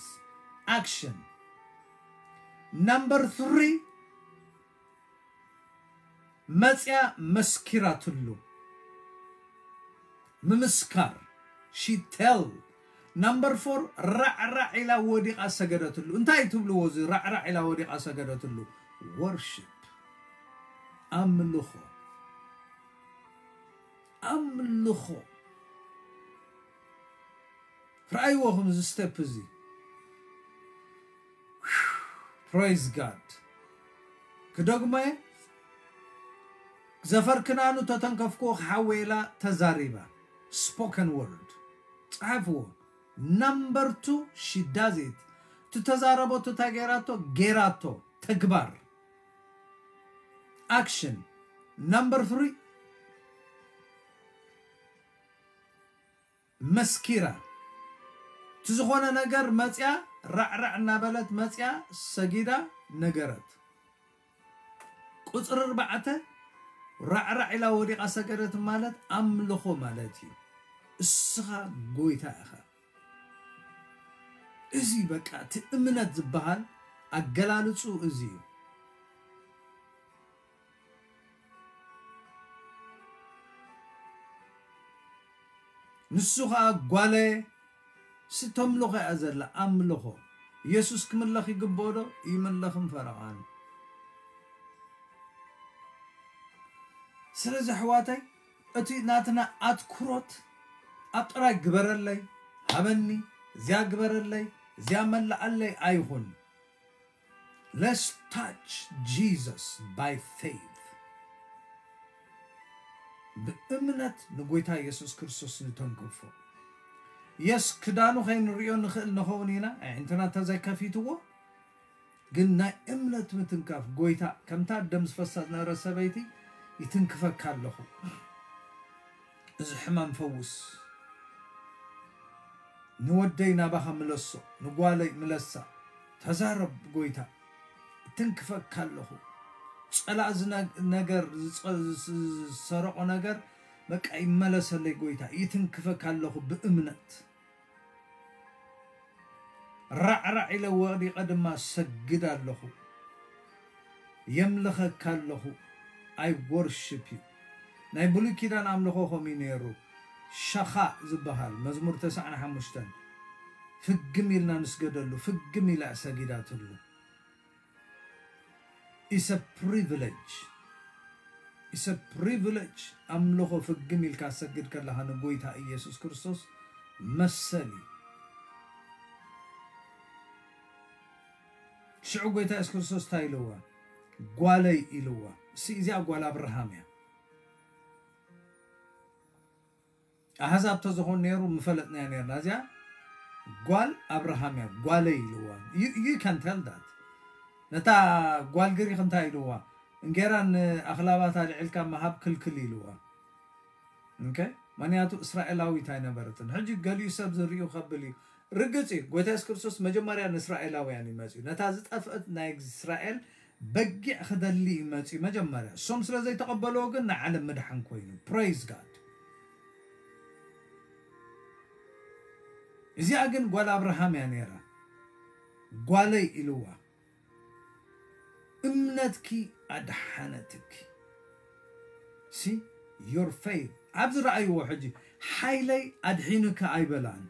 action. Number three, መጽያ መስኪራትሉ። ምምስካር፣ she tell። Number four፣ ራዕራዕ ኢላ ወዲቓ ሰገደትሉ። እንታይ ትብልዎ እዚ ራዕራዕ ኢላ ወዲቓ ሰገደትሉ? Worship፣ ኣምልኾ። ኣምልኾ። ረኣይዎ ከም እዚ ስቴፕ እዚ። Praise God። ክደግሞ እየ። ዘፈር ክናኑ ተተንከፍክዎ ክሓወይ ኢላ ተዛሪባ። Spoken word። ጸሓፍዎ። Number two, she does it። ትተዛረቦ ትታ ጌራቶ ጌራቶ። ተግባር። Action. Number three, መስኪራ። እቲ ዝኾነ ነገር መጽያ ራዕራዕ እናበለት መጽያ ሰጊዳ ነገረት። ቁጽሪ ኣርባዕተ፣ ራዕራዕ ኢላ ወዲቓ ሰገደት ማለት ኣምልኾ ማለት እዩ። እስኻ ጎይታ ኢኻ። እዚ በቃ እቲ እምነት ዝበሃል ኣገላልጹ እዚ እዩ። ንሱ ኸኣ ጓለየ ስተምልኾ እያ ዘላ ኣምልኾ። ኢየሱስ ክምለኽ ይግብኦ ዶ? ይምለኽን ፈረቓን። ስለዚ ኣሕዋተይ እቲ ናትና ኣትኩሮት ኣብ ጥራይ ግበረለይ፣ ሃበኒ፣ እዚኣ ግበረለይ፣ እዚኣ መላኣለይ ኣይኹን። Let's touch Jesus by faith. ብእምነት ንጎይታ ኢየሱስ ክርስቶስ ንተንክፎ። የስ ክዳኑ ከይንሪኦ ንኽእል ንኸውን ኢና፣ ኣዒንትና እንተዘይከፊትዎ፣ ግን ናይ እምነት ምትንካፍ ጎይታ ከምታ ደም ዝፈሳ ዝነበረ ሰበይቲ ይትንክፈካ ኣለኹ። እዚ ሕማም ፈውስ። ንወደይ ናባኻ ምለሶ፣ ንጓለይ ምለሳ። ተዛረብ ጎይታ። እትንክፈካ ኣለኹ። ጸላእ ዝነ-፣ ነገር ዝጸ-፣ ዝስ-፣ ዝሰረቆ ነገር በቃ ይመለሰለይ ጎይታ። ይትንክፈካ ኣለኹ ብእምነት። ራዕራዕ ኢለ ወዲቐ ድማ ሰግድ ኣለኹ። የምልኸካ ኣለኹ። I worship you። ናይ ብሉይ ኪዳን ኣምልኾ ከምኡ እዩ ነይሩ። ሸኻ ዝበሃል መዝሙር ተስዓን ሓሙሽተን ፍግም ኢልና ንስገደሉ፣ ፍግም ኢላ ሰጊዳትሉ። It's a privilege. It's a privilege። ኣምልኾ ፍግም ኢልካ ሰግድ ከለኻ ንጎይታ ኢየሱስ ክርስቶስ መሰል እዩ። ሽዑ ጎይታ የሱስ ክርስቶስ እንታይ ኢልዋ? ጓለይ ኢልዋ። እሲ እዚኣ ጓል ኣብርሃም እያ። ኣህዛብ ተዝኾን ነይሩ ምፈለጥናያ ነይርና። እዚኣ ጓል ኣብርሃም እያ፣ ጓለይ ኢልዋ። You, you can tell that። ነታ ጓል ግሪኽ እንታይ ኢልዋ? እንጌራን ኣኽላባት ኣልዒልካ ምሃብ ክልክል ኢልዋ። ኦኬ? ምኽንያቱ እስራኤላዊት ኣይነበረትን። ሕጂ ገሊኡ ሰብ ዝርእዩ ከብል እዩ። ርግጽ እዩ፣ ጎይታ የሱስ ክርስቶስ መጀመርያ ንእስራኤላውያን እዩ መጺኡ። ነታ ዝጠፍአት ናይ እስራኤል በጊዕ ክደሊ እዩ መጺኡ መጀመርያ። እሶም ስለ ዘይተቐበልዎ ግን ንዓለም ምድሓን ኮይኑ። Praise God። እዚኣ ግን ጓል ኣብርሃም እያ ነይራ። ጓለይ ኢልዋ። እምነትኪ ኣድሓነትኪ። See, your faith። ኣብዚ ረኣይዎ ሕጂ፣ ሓይለይ ኣድሒኑኪ ኣይበላን።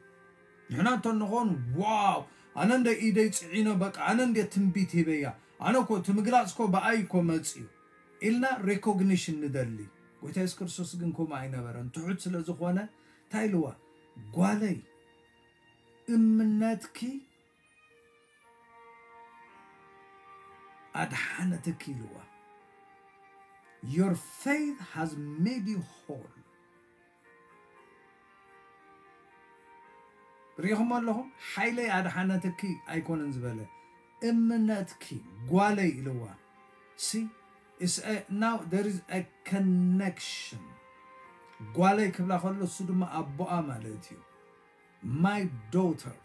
ንሕና እንተ ንኾን፣ ዋው፣ ኣነ እንደ ኢደይ ጽዒኖ፣ በቃ፣ ኣነ እንደ ትንቢት ሂበያ። ኣነ እኮ፣ እቲ ምግላጽ እኮ ብኣይ እኮ መጽዩ። ኢልና ሬኮግኒሽን ንደሊ። ጎይታ የሱስ ክርስቶስ ግን ከምኡ ኣይነበረን። ትሑት ስለ ዝኾነ፣ እንታይ ኢልዋ? ጓለይ፣ እምነትኪ ኣድሓነትኪ ኢልዋ። Your faith has made you whole። ርኢኹም ኣለኹም? ሓይለይ ኣድሓነትኪ ኣይኮነን ዝበለ፣ እምነትኪ ጓለይ ኢልዋ። See, it's a, now there is a connection። ጓለይ ክብላ ከሎ እሱ ድማ ኣቦኣ ማለት እዩ። My daughter፣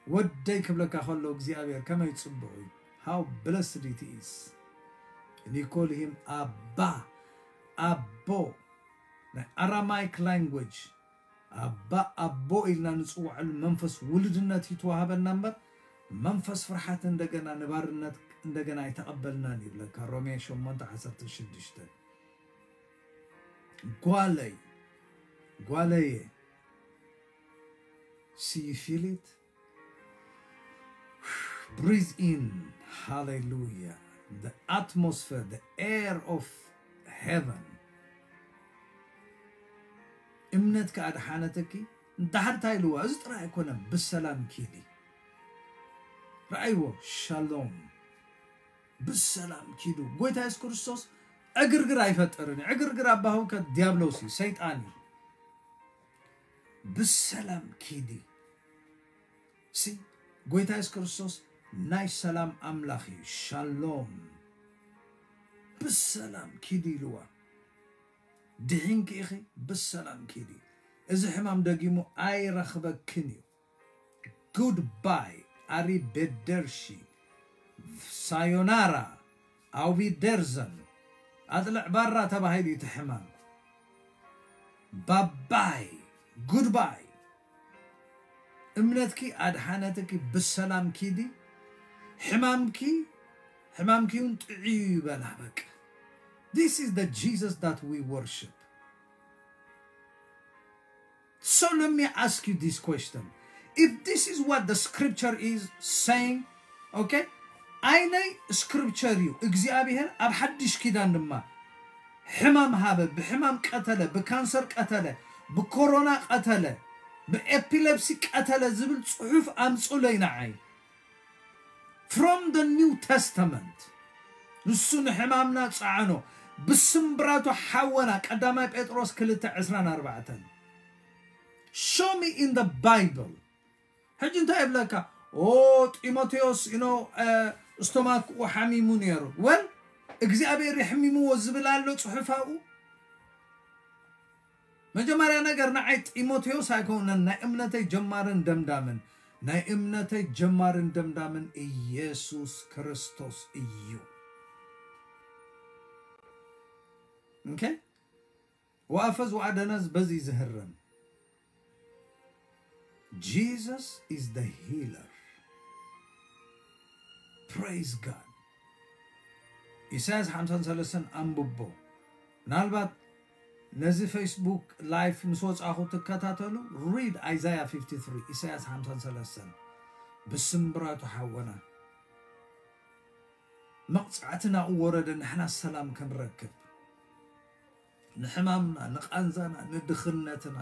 ወደይ ክብለካ ከሎ እግዚኣብሔር ከመይ ጽቡቕ እዩ። How blessed it is። And you call him ኣባ፣ ኣቦ። ናይ ኣራማይክ ላንጉጅ ኣባ፣ ኣቦ ኢልና ንጽውዐሉ መንፈስ ውሉድነት ይተዋሃበና እምበር፣ መንፈስ ፍርሓት እንደገና ንባርነት እንደገና ኣይተቐበልናን ይብለካ ሮሜ ሸሞንተ ዓሰርተ ሽዱሽተ። ጓለይ፣ ጓለየ፣ see, you feel it? Breathe in. Hallelujah. The atmosphere, the air of heaven. እምነትኪ ኣድሓነትኪ። እንድሕር እንታይ ኢልዋ? እዚ ጥራይ ኣይኮነን፣ ብሰላም ኪዲ። ረኣይዎ፣ ሻሎም። ብሰላም ኪዱ። ጎይታ የሱስ ክርስቶስ ዕግርግር ኣይፈጥርን እዩ። ዕግርግር ኣባህውከት ዲያብሎስ እዩ፣ ሰይጣን እዩ። ብሰላም ኪዲ። ሲ ጎይታ የሱስ ክርስቶስ ናይ ሰላም ኣምላኽ እዩ። ሻሎም። ብሰላም ኪዲ ኢልዋ። ድሒንኪ ኢኺ፣ ብሰላም ኪዲ። እዚ ሕማም ደጊሙ ኣይረኽበክን እዩ። ጉድባይ፣ ኣሪቤደርሺ፣ ሳዮናራ፣ ኣውቢደርዘን፣ ኣጥልዕ ባራ ተባሂሉ እዩ እቲ ሕማም። ባባይ፣ ጉድባይ። እምነትኪ ኣድሓነትኪ፣ ብሰላም ኪዲ። ሕማምኪ፣ ሕማምኪ እውን ጥዕዩ ይበላ በቃ። This is the Jesus that we worship. So let me ask you this question. If this is what the scripture is saying, okay? ኣይነይ ስክሪፕቸር እዩ እግዚኣብሔር ኣብ ሓድሽ ኪዳን ድማ ሕማም ሃበ፣ ብሕማም ቀተለ፣ ብካንሰር ቀተለ፣ ብኮሮና ቀተለ፣ ብኤፒሌፕሲ ቀተለ ዝብል ጽሑፍ ኣምጹለይ ንዓይ። From the New Testament ንሱ ንሕማምና ጸዓኖ፣ ብስምብራቱ ሓወና። ቀዳማይ ጴጥሮስ ክልተ ዕስራን ኣርባዕተን። Show me in the Bible. ሕጂ እንታይ ይብለካ? ኦ ጢሞቴዎስ ኢኖ ስቶማክኡ ሓሚሙ ነይሩ። ወል እግዚኣብሔር የሕሚምዎ ዝብል ኣሎ ጽሑፋኡ። መጀመርያ ነገር ንዓይ ጢሞቴዎስ ኣይኮነን ናይ እምነተይ ጀማርን ደምዳምን። ናይ እምነተይ ጀማርን ደምዳምን ኢየሱስ ክርስቶስ እዩ። Okay? ወኣፈዝ ወኣደነዝ በዚ ዝህረም። Jesus is the healer. Praise God. ኢሳያስ ሓምሳን ሰለስተን ኣንብቦ። ምናልባት ነዚ ፌስቡክ ላይፍ ምስ ወጻኹ ትከታተሉ፣ read Isaiah fifty-three፣ ኢሳያስ ሓምሳን ሰለስተን። ብስምብራቱ ሓወና መቕጻዕትና እወረደ፣ ንሕና ሰላም ክንረክብ። ንሕማምና፣ ንቓንዛና፣ ንድኽነትና፣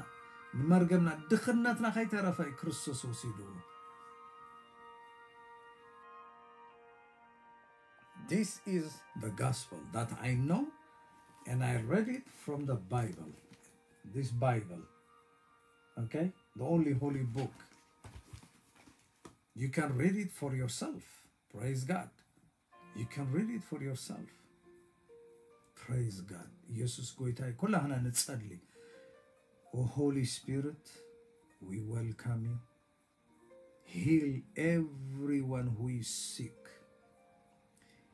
ንመርገምና፣ ድኽነትና ከይተረፈ እዩ ክርስቶስ ወሲድዎ። This is the gospel that I know and I read it from the Bible. This Bible, okay? The only holy book. You can read it for yourself. Praise God. You can read it for yourself. Praise God. ኢየሱስ ጎይታ እዩ። ኩላህና ንጸሊ። Oh Holy Spirit, we welcome you. Heal everyone who is sick.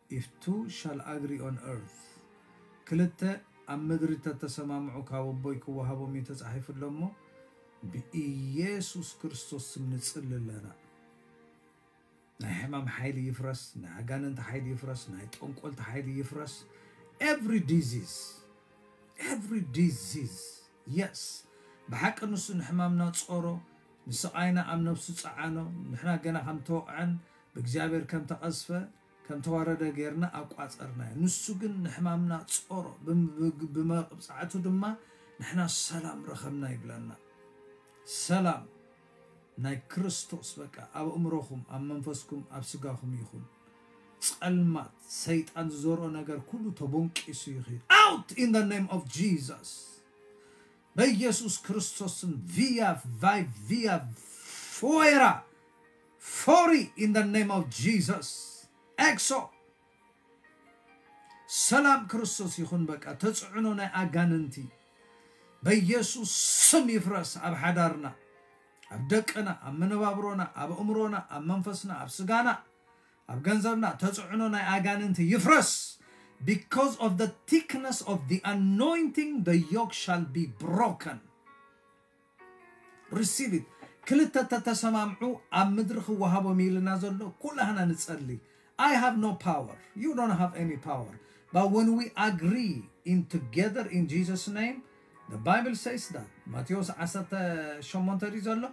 If two shall agree on earth, ክልተ ኣብ ምድሪ ተተሰማምዑ ካብ ኣቦይ ክወሃቦም እዩ ተጻሒፉ ኣሎ እሞ፣ ብኢየሱስ ክርስቶስ ስም ንጽሊ ኣለና። ናይ ሕማም ሓይሊ ይፍረስ፣ ናይ ኣጋንንቲ ሓይሊ ይፍረስ፣ ናይ ጠንቆልቲ ሓይሊ ይፍረስ። Every disease, every disease, yes. ብሓቂ ንሱ ንሕማምና ጾሮ፣ ንስቓይና ኣብ ነብሱ ጸዓኖ። ንሕና ገና ከም ተወቕዐን ብእግዚኣብሔር ከም ተቐዝፈ ከም ተዋረደ ጌርና ኣቋጸርናዮ። ንሱ ግን ንሕማምና ጾሮ፣ ብም-፣ ብመቕጻዕቱ ድማ ንሕና ሰላም ረኸብና ይብለና። ሰላም ናይ ክርስቶስ በቃ ኣብ ኣእምሮኹም፣ ኣብ መንፈስኩም፣ ኣብ ስጋኹም ይኹን። ጸልማት ሰይጣን ዝዘርኦ ነገር ኩሉ ተቦንቂሱ ይኺድ። Out in the name of Jesus. በኢየሱስ ክርስቶስም ቪያ ቫይ ቪያ ፎራ ፎሪ in the name of Jesus. ኤክሶ ሰላም ክርስቶስ ይኹን። በቃ ተጽዕኖ ናይ ኣጋንንቲ በኢየሱስ ስም ይፍረስ። ኣብ ሓዳርና፣ ኣብ ደቅና፣ ኣብ መነባብሮና፣ ኣብ ኣእምሮና፣ ኣብ መንፈስና፣ ኣብ ስጋና፣ ኣብ ገንዘብና ተጽዕኖ ናይ ኣጋንንቲ ይፍረስ። Because of the thickness of the anointing, the yoke shall be broken. Receive it. ክልተ ተተሰማምዑ ኣብ ምድሪ ክወሃቦም ኢልና ዘሎ ኩላህና ንጸሊ። I have no power. You don't have any power. But when we agree in together in Jesus' name, the Bible says that. ማቴዎስ ዓሰርተ ሸሞንተ ድዩ ዘሎ?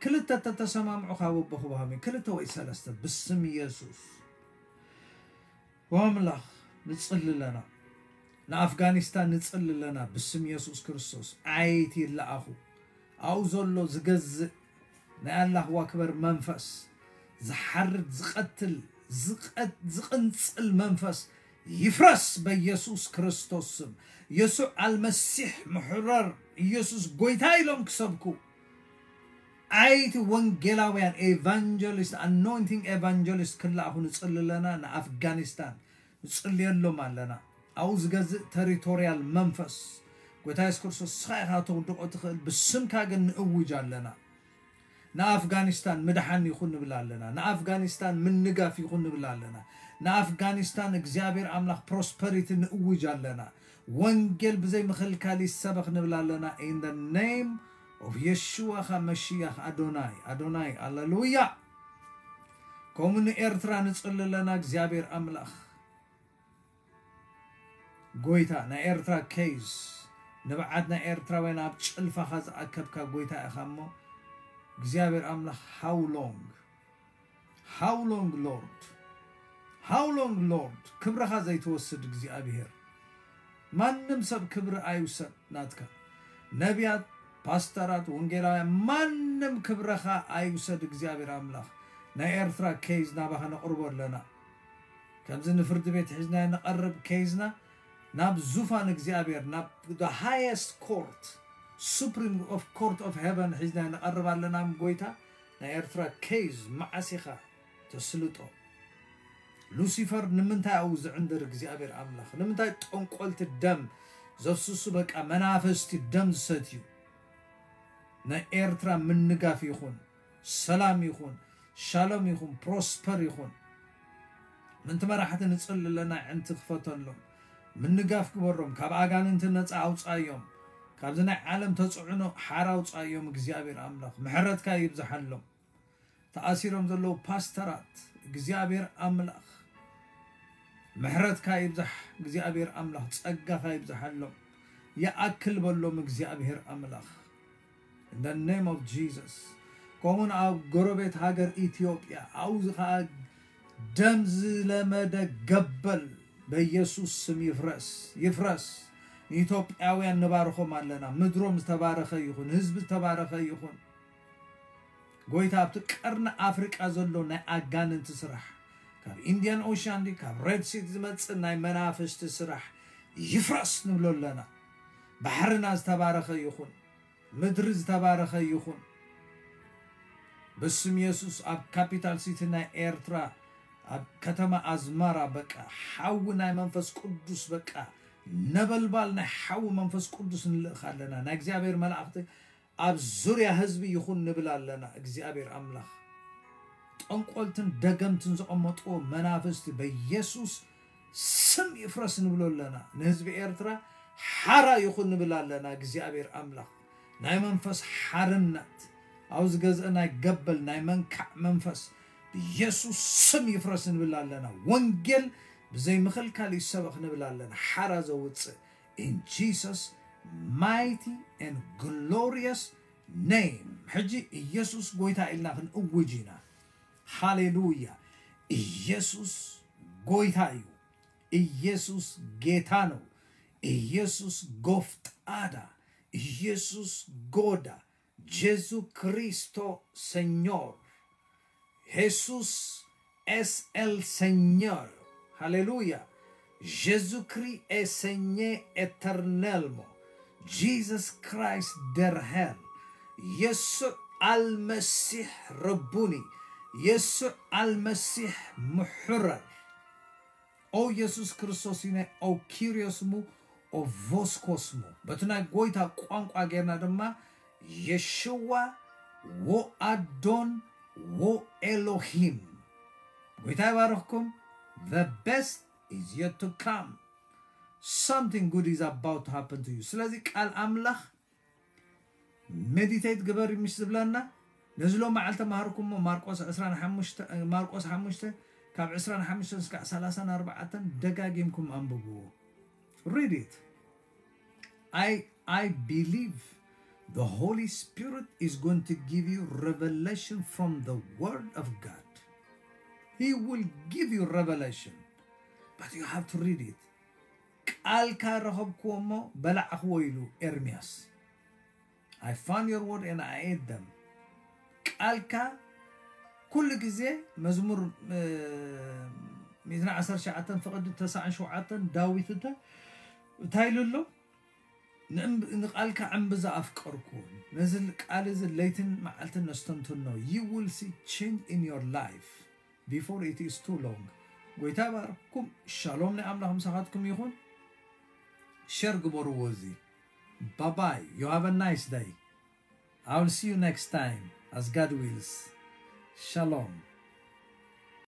ክልተ ተተሰማምዑ ካብ ኣቦ ክወሃቦም እዩ። ክልተ ወይ ሰለስተ ብስም ኢየሱስ። ወኣምላኽ ንጽሊ ኣለና። ንኣፍጋኒስታን ንጽሊ ኣለና ብስም ኢየሱስ ክርስቶስ። ኣይቲ ይለኣኹ። ኣብኡ ዘሎ ዝገዝእ ናይ ኣላህ ዋክበር መንፈስ፣ ዝሓርድ፣ ዝቐትል፣ ዝቐ- ዝቕንጽል መንፈስ ይፍረስ በኢየሱስ ክርስቶስ ስም። የሱዕ ኣልመሲሕ ምሕረር፣ ኢየሱስ ጎይታ ኢሎም ክሰብኩ ዓይቲ ወንጌላውያን ኤቫንጀሊስት ኣኖይንቲንግ ኤቫንጀሊስት ክለኣኹ ንጽሊ ኣለና። ንኣፍጋኒስታን ንጽልየሎም ኣለና። ኣብኡ ዝገዝእ ተሪቶርያል መንፈስ ጎይታ የሱስ ክርስቶስ ንስኻ ኢኻ ተውድቖ ትኽእል፣ ብስምካ ግን ንእውጅ ኣለና። ንኣፍጋኒስታን ምድሓን ይኹን ንብል ኣለና። ንኣፍጋኒስታን ምንጋፍ ይኹን ንብል ኣለና። ንኣፍጋኒስታን እግዚኣብሔር ኣምላኽ ፕሮስፐሪቲ ንእውጅ ኣለና። ወንጌል ብዘይ ምኽልካል ይሰበኽ ንብል ኣለና። In the name of የሽዋ ኻ መሽያኽ ኣዶናይ ኣዶናይ። ኣለሉያ። ከምኡ ንኤርትራ ንጽሊ ኣለና። እግዚኣብሔር ኣምላኽ ጎይታ ናይ ኤርትራ ኬዝ፣ ንብዓት ናይ ኤርትራውያን ኣብ ጭልፋኻ ዝኣከብካ ጎይታ ኢኻ እሞ እግዚኣብሔር ኣምላኽ፣ how long? How long, Lord? How long, Lord? ክብርኻ ዘይትወስድ እግዚኣብሔር፣ ማንም ሰብ ክብሪ ኣይውሰድ ናትካ። ነቢያት፣ ፓስተራት፣ ወንጌላውያን፣ ማንም ክብረኻ ኣይውሰድ እግዚኣብሔር ኣምላኽ። ናይ ኤርትራ ኬዝ ናባኻ ነቕርቦ ኣለና። ከምዚ ንፍርዲ ቤት ሒዝና ንቐርብ ኬዝና ናብ ዙፋን እግዚኣብሔር፣ ናብ the highest court, Supreme of Court of Heaven ሒዝና ንቐርብ ኣለና። ጎይታ፣ ናይ ኤርትራ ኬዝ መዓስ ኢኻ ተስልጦ? ሉሲፈር ንምንታይ ኣብኡ ዝዕንድር እግዚኣብሔር ኣምላኽ? ንምንታይ ጠንቆልቲ ደም ዘፍስሱ፣ በቃ መናፍስቲ ደም ዝሰትዩ? ናይ ኤርትራ ምንጋፍ ይኹን፣ ሰላም ይኹን፣ ሻሎም ይኹን፣ ፕሮስፐር ይኹን። ምንቲ መራሕቲ ንጽሊ ኣለና፣ ዕንቲ ክፈተሎም፣ ምንጋፍ ግበሮም፣ ካብ ኣጋንንቲ ነጻ ኣውጻዮም፣ ካብዚ ናይ ዓለም ተጽዕኖ ሓራ ኣውጻዮም። እግዚኣብሔር ኣምላኽ ምሕረትካ ይብዝሓሎም። ተኣሲሮም ዘለዉ ፓስተራት እግዚኣብሔር ኣምላኽ ምሕረትካ ይብዛሕ። እግዚኣብሔር ኣምላኽ ጸጋኻ ይብዛሓሎም። ይኣክል በሎም እግዚኣብሔር ኣምላኽ። In the name of Jesus። ከምኡን ኣብ ጎረቤት ሃገር ኢትዮጵያ ኣብኡ ኸዓ ደም ዝለመደ ገበል በኢየሱስ ስም ይፍረስ፣ ይፍረስ። ንኢትዮጵያውያን ንባርኾም ኣለና። ምድሮም ዝተባረኸ ይኹን፣ ህዝቢ ዝተባረኸ ይኹን። ጎይታ ኣብቲ ቀርኒ ኣፍሪቃ ዘሎ ናይ ኣጋንንቲ ስራሕ፣ ካብ ኢንዲያን ኦሽያን ድዩ ካብ ሬድ ሲ ዝመጽእ ናይ መናፍስቲ ስራሕ ይፍረስ ንብሎ ኣለና። ባሕርና ዝተባረኸ ይኹን፣ ምድሪ ዝተባረኸ ይኹን። ብስም የሱስ ኣብ ካፒታል ሲቲ ናይ ኤርትራ ኣብ ከተማ ኣዝመራ በቃ ሓዊ ናይ መንፈስ ቅዱስ በቃ ነበልባል ናይ ሓዊ መንፈስ ቅዱስ ንልእኽ ኣለና። ናይ እግዚኣብሔር መላእኽቲ ኣብ ዙርያ ህዝቢ ይኹን ንብል ኣለና። እግዚኣብሔር ኣምላኽ ጠንቆልትን ደገምትን ዘቐመጥዎ መናፍስቲ በኢየሱስ ስም ይፍረስ ንብሎ ኣለና። ንህዝቢ ኤርትራ ሓራ ይኹን ንብል ኣለና። እግዚኣብሔር ኣምላኽ ናይ መንፈስ ሓርነት ኣብ ዝገዝእ ናይ ገበል ናይ መንካዕ መንፈስ ብኢየሱስ ስም ይፍረስ ንብል ኣለና። ወንጌል ብዘይ ምኽልካል ይሰበኽ ንብል ኣለና። ሓራ ዘውፅእ in Jesus mighty and glorious name። ሕጂ ኢየሱስ ጎይታ ኢልና ክንእውጅ ኢና። ሃሌሉያ። ኢየሱስ ጎይታ እዩ። ኢየሱስ ጌታ ነው። ኢየሱስ ጎፍጣዳ፣ ኢየሱስ ጎዳ። ጄሱ ክሪስቶ ሰኞር። ሄሱስ ኤስ ኤል ሰኞር። ሃሌሉያ። Jésus-Christ est Seigneur éternellement. Jesus Christ der Herr. የሱዕ ኣልመሲሕ ረቡኒ። የሱዕ ኣልመሲሕ ምሕረር። ኦ የሱስ ክርስቶስ ኢነ ኦ ኪሪዮስሙ ኦ ቮስኮስሙ። በቲ ናይ ጎይታ ቋንቋ ጌርና ድማ የሽዋ ዎ ኣዶን ዎ ኤሎሂም። ጎይታ ይባርኽኩም። The best is yet to come. Something good is about to happen to you. ስለዚ ቃል ኣምላኽ ሜዲቴት ግበሪ ምሽ ዝብለና ነዚ ሎም መዓልቲ ተማሃርኩሞ ማርቆስ ዕስራን ሓሙሽተ ማርቆስ ሓሙሽተ ካብ ዕስራን ሓሙሽተ እስካዕ ሰላሳን ኣርባዕተን ደጋጊምኩም ኣንብብዎ። Read it. I I believe the Holy Spirit is going to give you revelation from the Word of God. He will give you revelation, but you have to read it. ቃልካ ረኸብክዎ እሞ በላዕክዎ ኢሉ ኤርምያስ። I found your word and I ate them. ቃልካ ኩሉ ግዜ መዝሙር ሚእትን ዓሰርተ ሸዓተን ፍቕዲ ተስዓን ሸውዓተን ዳዊት እንተ እንታይ ኢሉ ኣሎ? ንቃልካ ዕምቢ ዝኣፍቀርኩ ነዚ ቃል እዚ ለይትን መዓልትን ነስተንትኖ። You will see change in your life before it is too long። ጎይታ ባርኩም። ሻሎም ናይ ኣምላኽ ምሳኻትኩም ይኹን። ሸር ግበርዎ እዚ። Bye bye, you have a nice day. I will see you next time as God wills. Shalom.